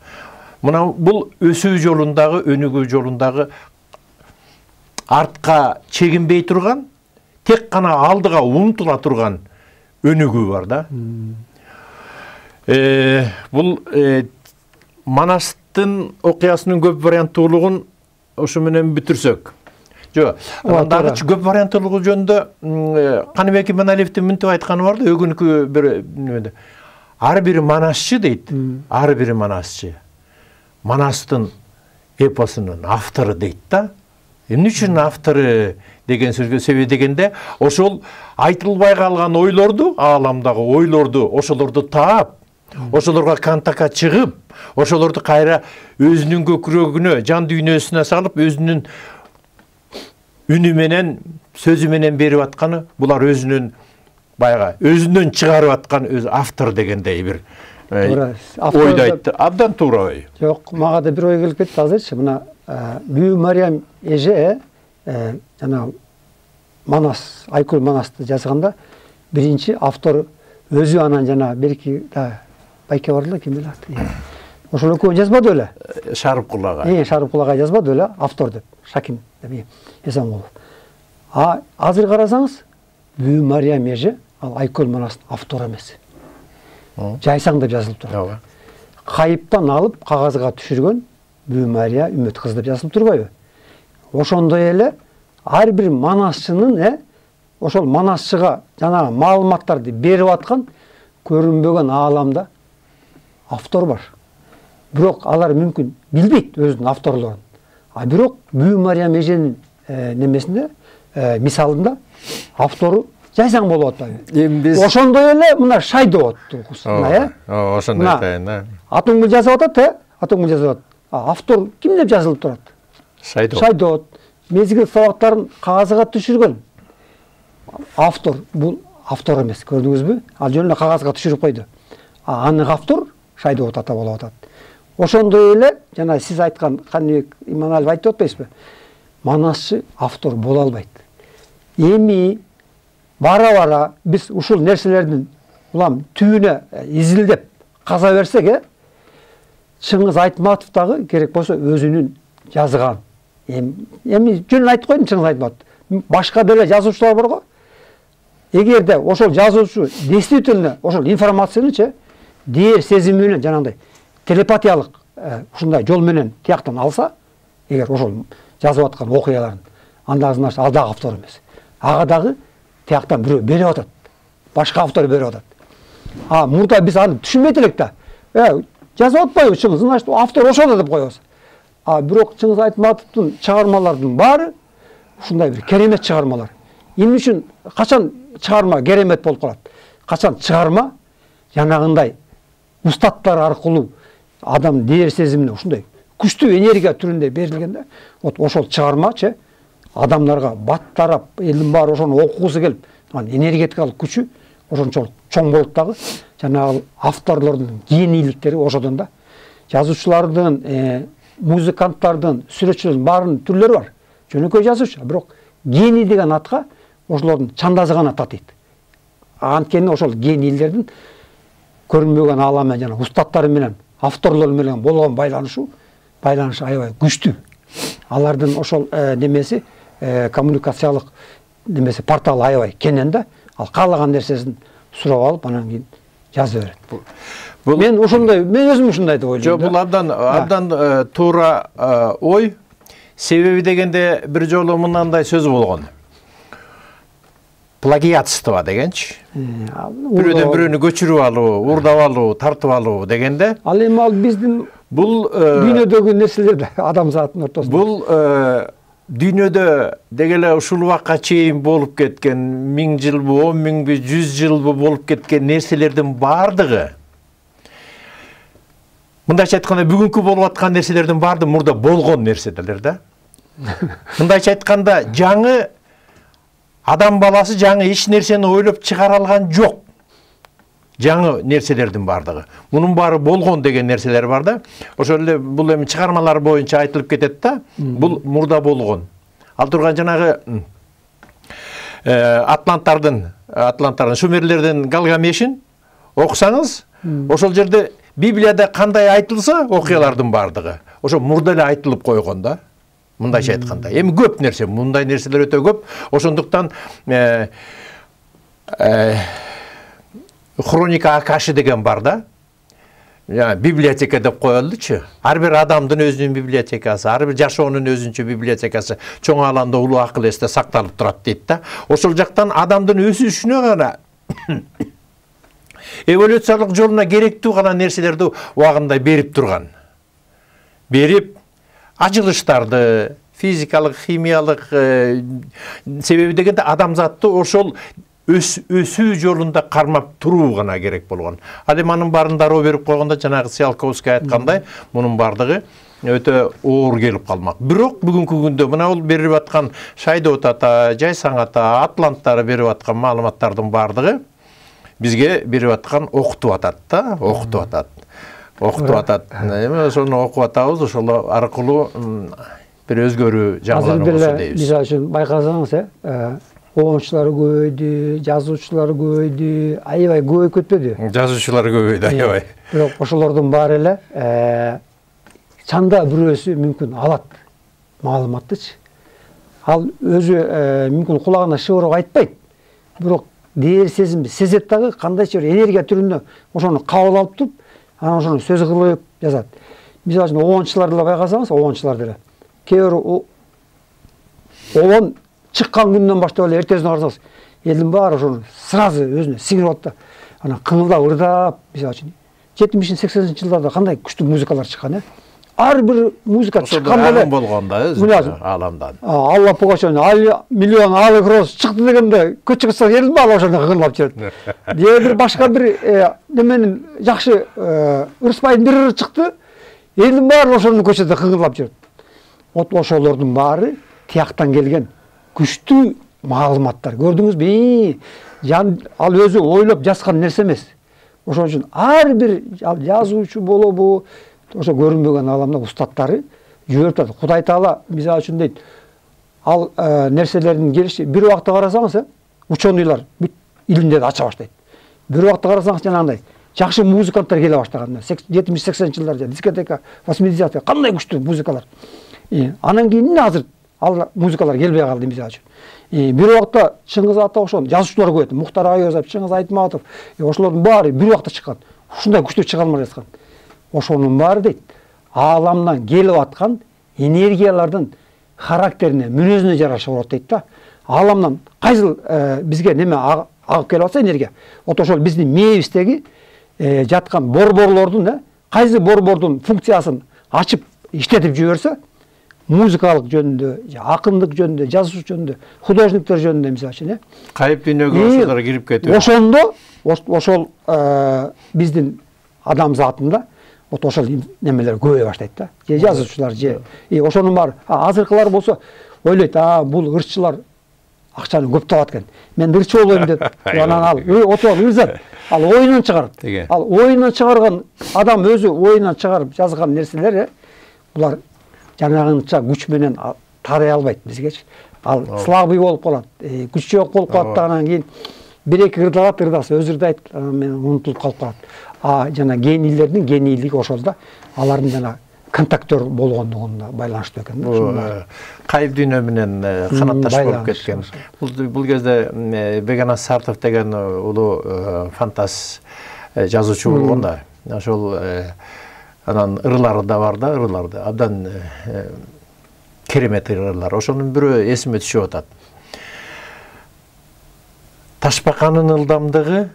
Speaker 1: Мына бул өсүү жолундагы, өнүгүү жолундагы артка чегинбей турган, тек гана алдыга умтула турган өнүгүү бар да. Бул Манастын окуясынын көп варианттуулугун ошу менен бүтүрсөк. Жо, андагы көп варианттуулугу жөнүндө Каныбек Иманалиевдин мынтип айтканы бар да, өгүнкү бир немеде. Ар бир манасчы дейт, ар бир манасчы Манастын эпосунун автору дейт да. Эмне үчүн автору деген сөзгө себеби дегенде, ошол айтылбай калган ойлорду, ааламдагы ойлорду, ошолорду таап, ошолорго контактка чыгып, ошолорду кайра өзүнүн көкүрөгүнө, жан дүйнөсүнө салып, өзүнүн үнү менен, сөзү менен берип атканы, булар өзүнүн баягы өзүнөн чыгарып аткан өз автор дегендей бир ойду айтты. Абдан туура ой.
Speaker 2: Жок, мага да бир ой келип кетти азырчы. Мына Бүү Мариям эже жана Манас, Айкөл Манасты жазганда биринчи автор өзү, анан жана берки да байке бар эле, ким билет. Ошол экөө жазбады беле?
Speaker 1: Шарыпкул ага.
Speaker 2: Э, Шарыпкул ага жазбады беле, автор деп, Шаким деп Эсенкулов. А азыр карасаңыз, Бүү Мариям эже ал Айкөл Манастын автору эмес. Жайсаң деп жазылып турат. Кайыптан алып кагазга түшүргөн Бүү Мария Үмөт кыз деп жазылып турбайбы? Ошондой эле ар бир манасчынын, э, ошол манасчыга жанагы маалыматтарды берип аткан көрүнбөгөн ааламда автор бар. Бирок алар мүмкүн билбейт өзүнүн авторлорун. А бирок Бүү Мариям эженин немесинде, мисалында автору жайсаң болуп атпайбы?
Speaker 1: Эми биз
Speaker 2: ошондой эле мына Шайдоот укусуна, э?
Speaker 1: Ооба, ошондой айтайын, да.
Speaker 2: Атоңгүл жазып атат, э? Атоңгүл жазып атат. Автор ким деп жазылып турат?
Speaker 1: Шайдоот.
Speaker 2: Шайдоот. Мезгил сабактарын кагазга түшүргөн. Автор бул автор эмес, көрдүңүзбү? Ал жөн эле кагазга түшүрүп койду. А анык автор Шайдоот ата болуп атат. Ошондой эле жана сиз айткан Каныбек Иманалиев айтып атпайсызбы? Манасчы автор боло албайт. Эми бара-бара биз ушул нерселердин улам түбүнө изилдеп каза берсек, э, Чыңгыз Айтматов дагы керек болсо өзүнүн жазган. Эми эми жөн айтып койдум Чыңгыз Айтматов. Башка деле жазуучулар бар го. Эгерде ошол жазуучу действительно ошол информацияны дээр сезими менен жанагындай телепатиялык ушундай жол менен тияктан алса, эгер ошол жазып аткан окуяларын, анда значит ал дагы автор эмес. Ага дагы тияктан бирөө берип атат. Башка автор берип атат. А мурда биз аны түшүнбөйт элек да. Э, жазып атпайбы Чыңгыз, значит автор ошол деп коебуз. А бирок Чыңгыз Айтматовдун чыгармаларынын баары ушундай бир керемет чыгармалар. Эмне үчүн качан чыгарма керемет болуп калат? Качан чыгарма жанагындай устаттар аркылуу адам дээр сезимине ушундай күчтүү энергия түрүндө берилгенде, вот ошол чыгармачы адамдарга баттарап, элдин баары ошону окугусу келип, анын энергетикалык күчү ошончолук чоң болуп дагы жанагы авторлордун генийликтери ошодон да. Жазуучулардын, музыканттардын, сүрөтчүлөрдүн баарынын түрлөрү бар. Жөнөкөй жазуучу, бирок гений деген атка ошолордун чандазы гана татыйт. Анткени ошол генийлердин көрүнбөгөн ааламы жана устаттары менен, авторлор менен болгон байланышы, байланышы аябай күчтүү. Алардын ошол немеси, коммуникациялык немеси порталы аябай кенен да, ал каалаган нерсесин сурап алып, анан кийин жаза берет. Мен ошондой, мен өзүм ушундай деп ойлойм.
Speaker 1: Жок, бул абдан абдан туура ой. Себеби дегенде бир жолу мындай сөз болгон. Плагиатство дегенчи. Бирөөдөн бирөөнү көчүрүп алуу, урдап алуу, тартып алуу дегенде.
Speaker 2: Ал эми ал биздин
Speaker 1: бул
Speaker 2: дүйнөдөгү нерселер адамзаттын ортосунда.
Speaker 1: Бул дүйнөдө дегеле ушул убакка чейин болуп кеткен миң жылбы, он миңби, жүз жылбы болуп кеткен нерселердин бардыгы, мындайча айтканда бүгүнкү болуп аткан нерселердин баардыгы мурда болгон нерселер да. Мындайча айтканда жаңы адам баласы жаңы эч нерсени ойлоп чыгара алган жок. Жаңы нерселердин бардыгы. Мунун баары болгон деген нерселер бар да. Ошол эле бул эми чыгармалар боюнча айтылып кетет да. Бул мурда болгон. Ал турган жанагы Атланттардын, Атланттардын Шумерлердин Галгамешин окусаңыз, ошол жерде Библияда кандай айтылса, окуялардын бардыгы ошо мурда эле айтылып койгон да. Мындайча айтканда. Эми көп нерсе, мындай нерселер өтө көп. Ошондуктан хроника Акаши деген бар да. Библиотека деп коелучу. Ар бир адамдын өзүнүн библиотекасы, ар бир жашоонун өзүнчө библиотекасы чоң аланда улуу акыл эсте сакталып турат дейт да. Ошол жактан адамдын өсүшүнө гана эволюциялык жолуна керектүү гана нерселерди убагында берип турган. Берип ажылыштарды, физикалык, химиялык себеби дегенде адамзатты ошол өсүү жолунда кармап туруу гана керек болгон. Ал эми анын баарын дароо берип койгондо жанагы Циолковский айткандай, мунун бардыгы өтө оор келип калмак. Бирок бүгүнкү күндө мына бул берип аткан Шайдоот ата, Жайсаң ата, Атланттар берип аткан маалыматтардын бардыгы бизге берип аткан окутуп атат да, окутуп атат. Окутуп атат. Эми ошону окуп атабыз, ошол аркылуу бир өзгөрүү жаңылар болсо дейбиз.
Speaker 2: Мисалы үчүн байкасаңыз, э, оончулар көбөйдү, жазуучулар көбөйдү, аябай көбөйүп кетпеди?
Speaker 1: Жазуучулар көбөйдү аябай.
Speaker 2: Бирок ошолордун баары эле чанда бирөөсү мүмкүн алат маалыматтычы. Ал өзү мүмкүн кулагына шыбырып айтпайт. Бирок дээр сезимди сезет дагы, кандайча бир энергия түрүндө ошону кабыл алып туруп, анан ошону сөз кылып жазат. Мисалы үчүн оончуларды эле байкасаңыз, оончулар деле кээ бир оон чыккан күндөн баштап эле эртесине карасаңыз, элдин баары ошону сразу өзүнө сиңирип алат да. Анан кыңылдап ырдап, мисалы үчүн жетимиш сексенинчи жылдарда кандай күчтүү музыкалар чыккан, э? Ар бир музыка чыкканда эле
Speaker 1: болгондо өзү ааламдан.
Speaker 2: Алла Пугачев миллион алый роз чыкты дегенде көчкө чыкса эл бала ошондо кыгылап жүрөт. Же бир башка бир неменин жакшы Ырысбайдын бир ыры чыкты, элдин баары ошондун көчөдө кыгылап жүрөт. Вот ошолордун баары тияктан келген күчтүү маалыматтар. Көрдүңүзбү? Ал өзү ойлоп жазган нерсе эмес. Ошон үчүн ар бир жазуучу болобу, ошо көрүнбөгөн аламда устаттары жиберип турат. Кудай Таала мисалы үчүн дейт, ал нерселердин келиши бир убакта карасаңыз, ученыйлар бүт илимдерди ача баштайт. Бир убакта карасаңыз жанагындай жакшы музыканттар келе баштаган. жетимиш сексенинчи жылдарда дискотека, восьмидесятые кандай күчтүү музыкалар. Анан кийин азыр ал музыкалар келбей калды мисалы үчүн. Бир убакта Чыңгыз Ата ошон жазуучулар көп. Мухтар Айозов, Чыңгыз Айтматов, ошолордун баары бир убакта чыккан. Ушундай күчтүү чыга алмай жаткан. Ошонун баары дейт, ааламдан келип аткан энергиялардын характерине, мүнөзүнө жараша болот дейт да. Ааламдан кайсыл бизге неме агып келип атса энергия. Вот ошол биздин мээбиздеги жаткан борборлордун, кайсы борбордун функциясын ачып иштетип жиберсе, музыкалык жөнүндө, акындык жөнүндө, жазуучу жөнүндө, художниктер жөнүндө мисалы үчүн,
Speaker 1: кайып дүйнөгө ошолор кирип кетип.
Speaker 2: Ошондо ошол биздин адам затында вот ошол немелер көбөйө баштайт да. Же жазуучулар, же ошонун баары. Азыркылар болсо ойлойт, а бул ырчылар акчаны көп табат экен. Мен ырчы болоюм деп, анан ал отуп ырзат. Ал оюнан чыгарат. Ал оюнан чыгарган адам өзү оюнан чыгарып жазган нерселер, булар жанагынча күч менен тарай албайт бизгечи. Ал слабый болуп калат, күч жок болуп калат, анан кийин бир эки ырдалат, ырдаса өзү ырдайт, мен унутулуп калып калат. А жана генийлердин генийлиги ошол да, алардын жана контактер болгондугуна байланыштуу экен.
Speaker 1: Кайып дүйнө менен канатташ болуп кеткен. Бул кезде Бегенас Сартов деген улуу фантаз жазуучу болгон да. Ошол анан ырлары да бар да, ырларды абдан керемет ырлар. Ошонун бирөө эсиме түшүп атат. Ташбаканын ылдамдыгы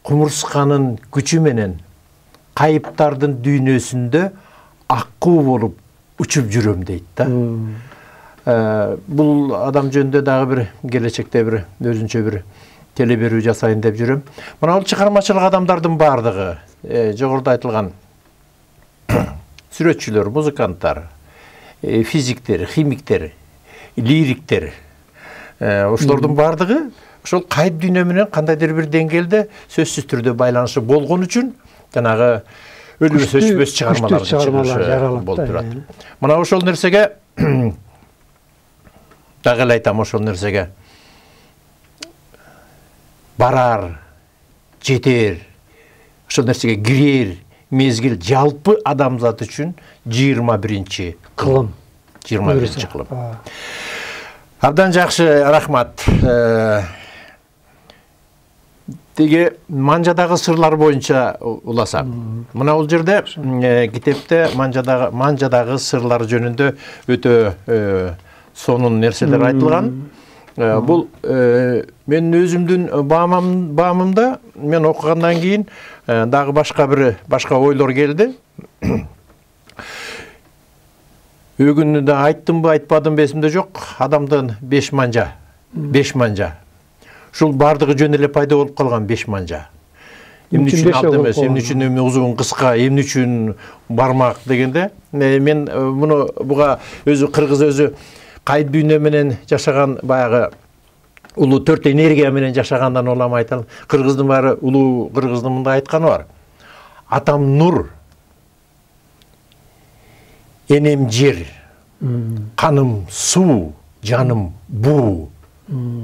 Speaker 1: кумурсканын күчү менен кайыптардын дүйнөсүндө аккуу болуп учуп жүрөм дейт да. Бул адам жөнүндө дагы бир келечекте бир өзүнчө бир теле берүү жасайын деп жүрөм. Мына бул чыгармачылык адамдардын баардыгы, жогоруда айтылган сүрөтчүлөр, музыканттар, физиктер, химиктер, лириктер, ошолордун баардыгы ошол кайып дүйнө менен кандайдыр бир деңгээлде сөзсүз түрдө байланышы болгон үчүн жанагы өлүмсүз өчпөс чыгармалар болуп турат. Мына ошол нерсеге дагы эле айтам, ошол нерсеге барар, жетер, ошол нерсеге кирер мезгил жалпы адамзат үчүн жыйырма биринчи кылым. жыйырма биринчи кылым. Абдан жакшы, рахмат. Теги Манжадагы сырлар боюнча уласак. Мына бул жерде китепте Манжадагы Манжадагы сырлар жөнүндө өтө сонун нерселер айтылган. Бул мен өзүмдүн баамымда мен окугандан кийин дагы башка бир башка ойлор келди. Өгүнү да айттымбы, айтпадымбы эсимде жок. Адамдын беш манжа, беш манжа. Ушул бардыгы жөн эле пайда болуп калган беш манжа. Эмне үчүн алды эмес, эмне үчүн эми узун, кыска, эмне үчүн бармак дегенде, мен муну буга өзү кыргыз өзү кайып дүйнө менен жашаган баягы улуу төрт энергия менен жашагандан улам айталым. Кыргыздын баары улуу кыргыздын мындай айтканы бар. Атам нур, энем жер, каным суу, жаным буу.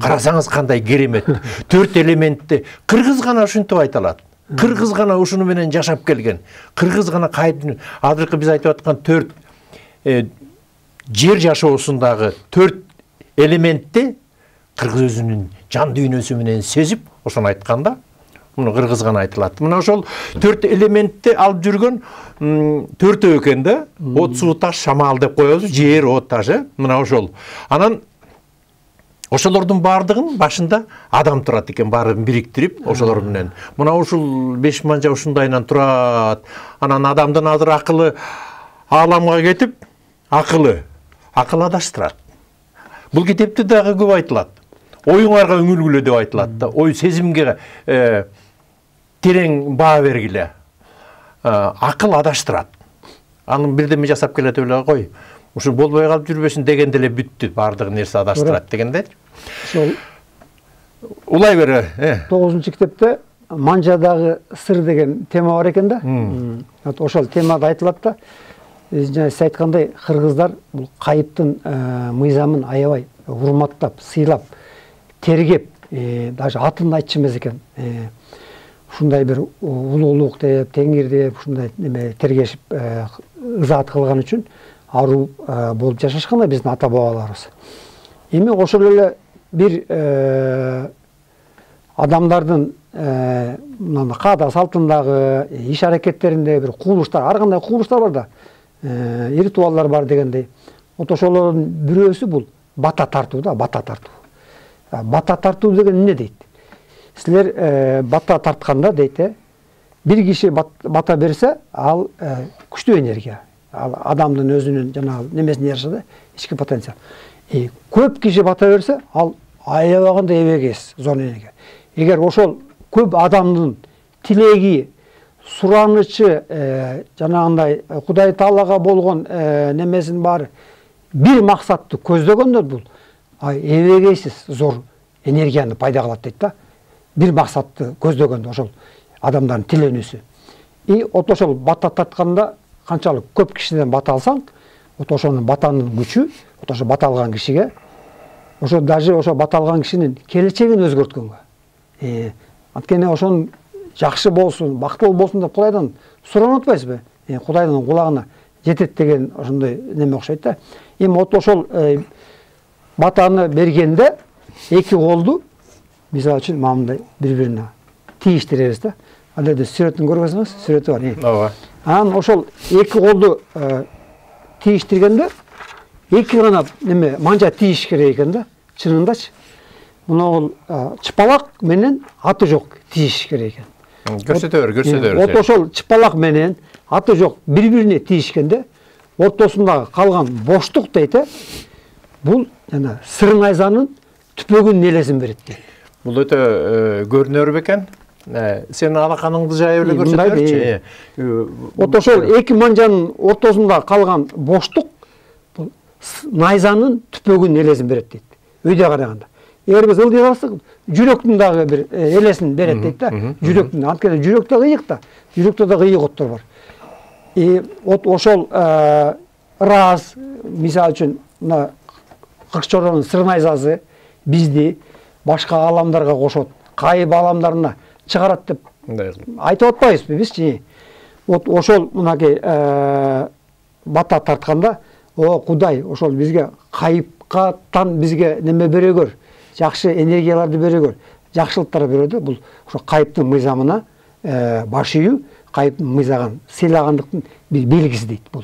Speaker 1: Карасаңыз кандай керемет. Төрт элементти кыргыз гана ушинтип айта алат. Кыргыз гана ушуну менен жашап келген. Кыргыз гана кайып азыркы биз айтып аткан төрт жер жашоосундагы төрт элементти кыргыз өзүнүн жан дүйнөсү менен сезип, ошону айтканда, муну кыргыз гана айтылат. Мына ошол төрт элементти алып жүргөн төртөө экен да. От, суу, таш, шамал деп коебуз. Жер, от, таш, мына ошол. Анан Ошолордун баардыгын башында адам турат экен, баарын бириктирип, ошолор менен. Мына ушул беш манжа ушундайынан турат. Анан адамдын азыр акылы ааламга кетип, акылы, акыл адаштырат. Бул китепте дагы көп айтылат. Оюңарга үңүлгүлө деп айтылат да. Ой сезимге терең баа бергиле. Акыл адаштырат. Анын бирдеме жасап келет эле кой. Ушу болбой калып жүрбөсүн дегенде эле бүттү, баардык нерсе адаштырат дегенде.
Speaker 2: Ошол
Speaker 1: улай бере.
Speaker 2: тогузунчу китепте манжадагы сыр деген тема бар экен да. Ошол темада айтылат да. Жана сиз айткандай, кыргыздар бул кайыптын мыйзамын аябай урматтап, сыйлап, тергеп, даже атын айтчу эмес экен. Ушундай бир улуулук деп, теңир деп, ушундай неме тергешип, ызаат кылган үчүн аруу болуп жашашкан да биздин ата бабаларыбыз. Эми ошол эле бир адамдардын мына каада салтындагы, иш аракеттеринде бир кубулуштар, ар кандай кубулуштар бар да, ритуалдар бар дегендей. Вот ошолордун бирөөсү бул бата тартуу да, бата тартуу. Бата тартуу деген эмне дейт? Силер бата тартканда дейт, бир киши бата берсе, ал күчтүү энергия. Ал адамдын өзүнүн жанагы немесине жараша да, ички потенциал. Көп киши бата берсе, ал аябаганда эбегес, зор энергия. Эгер ошол көп адамдын тилеги, суранычы, жанагындай Кудай Таалага болгон немесин баары бир максатты көздөгөндө бул эбегейсиз зор энергияны пайда кылат дейт да. Бир максатты көздөгөндө ошол адамдардын тиленүүсү. И вот ошол бата тартканда канчалык көп кишиден бата алсаң, вот ошонун батанын күчү, вот ошо бата алган кишиге, ошо даже ошо бата алган кишинин келечегин өзгөрткөнгө. Анткени ошонун жакшы болсун, бактылуу болсун деп Кудайдан суранып атпайсызбы? Кудайдын кулагына жетет деген ошондой неме окшойт да. Эми вот ошол батаны бергенде эки колду мисалы үчүн мындай бири-бирине тийиштиребиз да. Ал жерде сүрөтүн көргөзүңүз, сүрөтү бар.
Speaker 1: Ооба.
Speaker 2: Анан ошол эки колду тийиштиргенде эки гана неме манжа тийиш керек экен да, чынындачы. Муну чыпалак менен аты жок тийиш керек экен.
Speaker 1: Көрсөтөр, көрсөтөр.
Speaker 2: Вот ошол чыпалак менен аты жок бири-бирине тийишкенде ортосундагы калган боштук дейт, бул жана сыр найзанын түпөгүнүн элесин берет дейт.
Speaker 1: Бул өтө көрүнөр бекен. Сен алаканыңды жайып эле көрсөтөрчү.
Speaker 2: Вот ошол эки манжанын ортосунда калган боштук бул найзанын түпөгүнүн элесин берет дейт. Өйдө караганда. Эгер биз ылдый калсак, жүрөктүн дагы бир элесин берет дейт да. Жүрөктүн, анткени жүрөктө ыйык да, жүрөктө дагы ыйык оттор бар. И вот ошол раз, мисалы үчүн, мына Кыркчоронун сыр найзасы бизди башка ааламдарга кошот, кайып ааламдарына чыгарат деп айтып атпайбызбы бизчи? Вот ошол мынакей бата тартканда, о Кудай ошол бизге кайыпкатан бизге неме бере көр, жакшы энергияларды бере көр, жакшылыктар бере да, бул ошо кайыптын мыйзамына баш ийүү, кайыптын мыйзагын сыйлагандыктын бир белгиси дейт бул.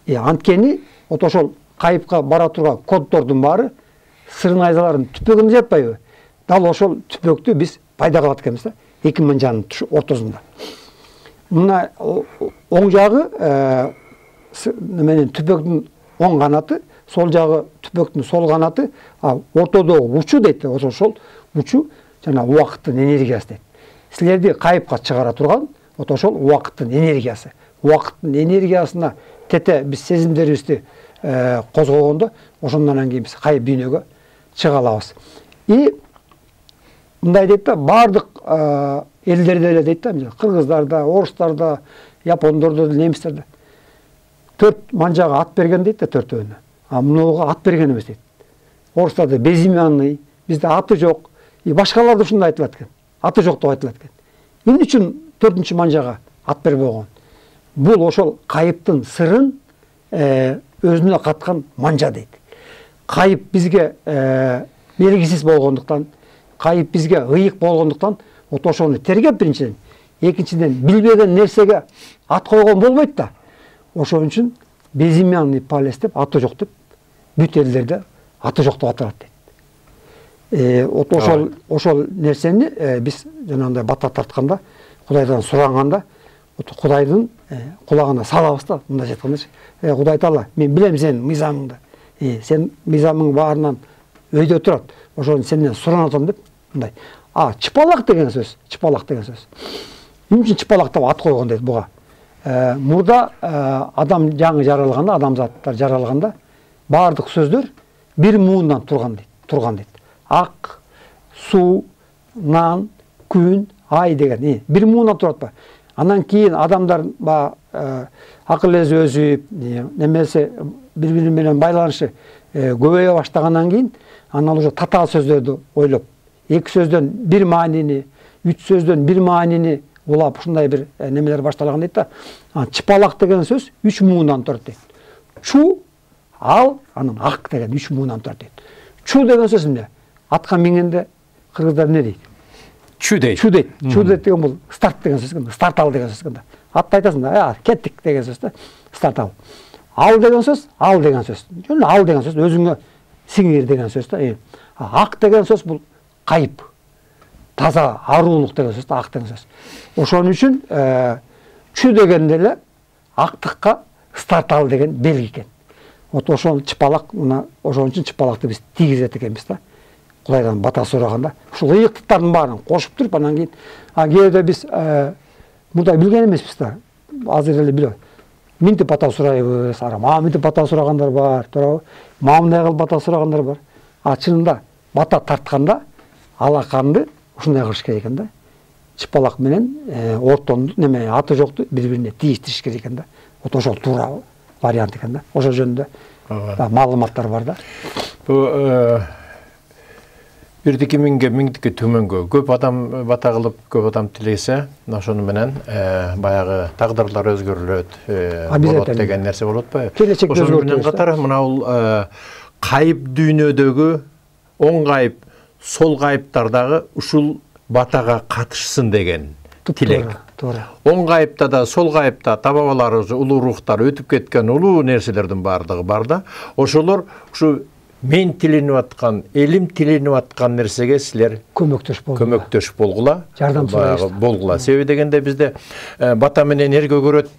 Speaker 2: Анткени вот ошол кайыпка бара турган коддордун баары сыр найзалардын түпөгүндө жатпайбы? Дал ошол түпөктү биз пайда кылат экенбиз да, эки манжанын ортосунда. Мына оң жагы менен түпөктүн оң канаты, сол жагы түпөктүн сол канаты, ортодогу учу дейт, ошол учу жана убакыттын энергиясы дейт. Силерди кайыпка чыгара турган вот ошол убакыттын энергиясы. Убакыттын энергиясына тете биз сезимдерибизди козгогондо, ошондон кийин биз кайып дүйнөгө чыга алабыз. И мындай дейт да, бардык элдерде эле дейт да, кыргыздарда, орустарда, япондордо, немистерде төрт манжага ат берген дейт да, төртөөнө. А мынуга ат берген эмес дейт. Орустарда безимянный, бизде аты жок, и башкаларда ушундай айтылат экен. Аты жок деп айтылат экен. Эмне үчүн төртүнчү манжага ат бербей койгон? Бул ошол кайыптын сырын өзүнө каткан манжа дейт. Кайып бизге белгисиз болгондуктан, кайып бизге ыйык болгондуктан, вот ошону тергеп биринчиден, экинчиден билбеген нерсеге ат койгон болбойт да. Ошон үчүн безимянный палец деп, аты жок деп, бүт элдерде аты жок деп аталат дейт. Вот ошол ошол нерсени биз жанагындай бата тартканда, Кудайдан суранганда, Кудайдын кулагына салабыз да, мындайча айткандачы. Э, Кудай Таала, мен билем сенин мыйзамыңды. Э, сен мыйзамың баарынан өйдө турат. Ошону сенден суранып атам деп, мындай. А, чыпалак деген сөз, чыпалак деген сөз. Эмне үчүн чыпалак деп ат койгон дейт буга? Э, мурда адам жаңы жаралганда, адамзаттар жаралганда баардык сөздөр бир муундан турган дейт, турган дейт. Ак, суу, нан, күн, ай деген бир муундан турат ба. Андан кийин адамдар баягы акыл эзи өзүп, немесе бири-бири менен байланышы көбөйө баштагандан кийин анан уже татаал сөздөрдү ойлоп, эки сөздөн бир маанини, үч сөздөн бир маанини улап ушундай бир немелер башталган дейт да. Чыпалак деген сөз үч муундан турат дейт. Чу, ал, анан ак деген үч муундан турат дейт. Чу деген сөз эмне? Атка мингенде кыргыздар эмне дейт?
Speaker 1: Чу дейт.
Speaker 2: Чу дейт. Чу дейт деген бул старт деген сөз экен, старт ал деген сөз экен да. Атты айтасың да, а, кеттик деген сөз да, старт ал. Ал деген сөз, ал деген сөз. Жөн ал деген сөз өзүңө сиңир деген сөз да. Ак деген сөз бул кайып. Таза, аруулук деген сөз да, ак деген сөз. Ошон үчүн чу дегенде эле актыкка старт ал деген белги экен. Вот ошол чыпалак, мына ошон үчүн чыпалакты биз тийгизет экенбиз да. Кудайдан бата сураганда, ушул ыйыктыктардын баарын кошуп туруп, анан кийин кээде биз мындай билген эмеспиз да. Азыр эле билет. Минтип бата сурайбыз, ара мага минтип бата сурагандар бар, туурабы? Мага мындай кылып бата сурагандар бар. А чынында бата тартканда алаканды ушундай кылыш керек экен да. Чыпалак менен ортонду, неме аты жокту бири-бирине тийиштириш керек экен да. Вот ошол туура вариант экен да. Ошол жөнүндө маалыматтар бар да.
Speaker 1: Бу бирдики миңге миңдики төмөнгө көп адам бата кылып, көп адам тилесе, ошону менен баягы тагдырлар өзгөрүлөт, болот деген нерсе болот ба? Ошону менен катары мына бул кайып дүйнөдөгү оң кайып, сол кайыптардагы ушул батага катышсын деген тилек.
Speaker 2: Туура.
Speaker 1: Оң кайыпта да, сол кайыпта та бабаларыбыз, улуу рухтар өтүп кеткен улуу нерселердин баардыгы бар да. Ошолор ушу мен тиленип аткан, элим тиленип аткан нерсеге силер
Speaker 2: көмөктөш болгула.
Speaker 1: Көмөктөш болгула.
Speaker 2: Жардам сурайбыз.
Speaker 1: Болгула. Себеби дегенде бизде бата менен эр көгөрөт,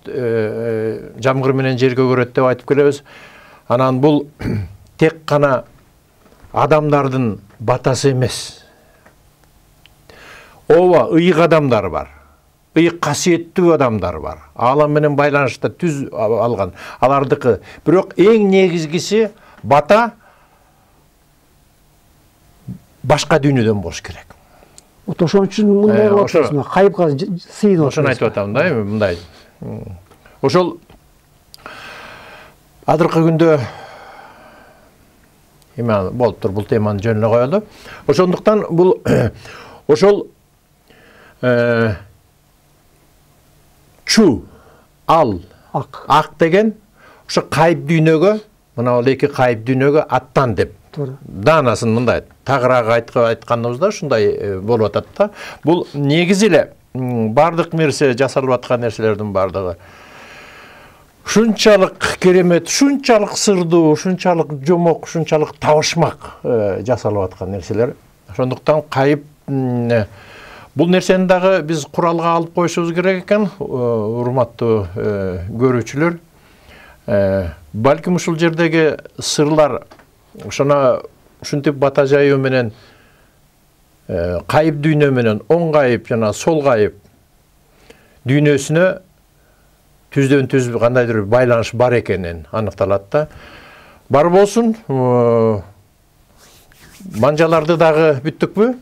Speaker 1: жамгыр менен жер көгөрөт деп айтып келебиз. Анан бул тек гана адамдардын батасы эмес. Ооба, ыйык адамдар бар. Ыйык касиеттүү адамдар бар. Алам менен байланышта түз алган. Алардыкы. Бирок эң негизгиси бата башка дүйнөдөн болуш керек.
Speaker 2: Вот ошон үчүн мындай кылып атабыз, кайыпка сыйынып.
Speaker 1: Ошону айтып атам да, эми мындай. Ошол азыркы күндө эме болуп тур, бул теманы жөнүнө коелу. Ошондуктан бул ошол чу, ал,
Speaker 2: ак,
Speaker 1: ак деген ошо кайып дүйнөгө, мына бул эки кайып дүйнөгө аттан деп. Даанасын мындай тагыраак айтканыбызда ушундай болуп атат да. Бул негизи эле бардык нерсе жасалып аткан нерселердин бардыгы ушунчалык керемет, ушунчалык сырдуу, ушунчалык жомок, ушунчалык табышмак жасалып аткан нерселер. Ошондуктан кайып бул нерсени дагы биз куралга алып коюшубуз керек экен, урматтуу көрүүчүлөр. Балким ушул жердеги сырлар ошоно ушинтип бата жайуу менен кайып дүйнө менен оң кайып жана сол кайып дүйнөсүнө түздөн түз кандайдыр бир байланыш бар экенин аныкталат да. Бар болсун. Манжаларды дагы бүттүкпү?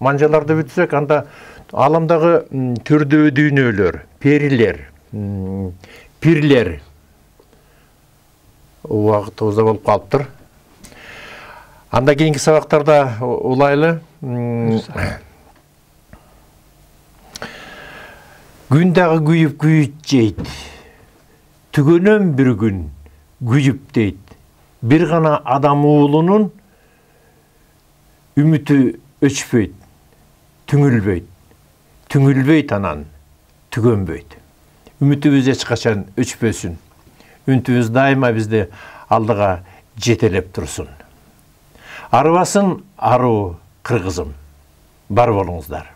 Speaker 1: Манжаларды бүтсөк, анда аламдагы түрдүү дүйнөлөр, перилер, пирлер убактыбызда болуп калыптыр. Анда кийинки сабактарда улайлы. Күн дагы күйүп күйүт жейт. Түгөнөм бир күн күйүп дейт. Бир гана адам уулунун үмүтү өчпөйт, түңүлбөйт. Түңүлбөйт анан түгөнбөйт. Үмүтүбүз эч качан өчпөсүн. Үмүтүбүз дайыма бизди алдыга жетелеп турсун. Арыбасын аруу кыргызым. Бар болуңуздар.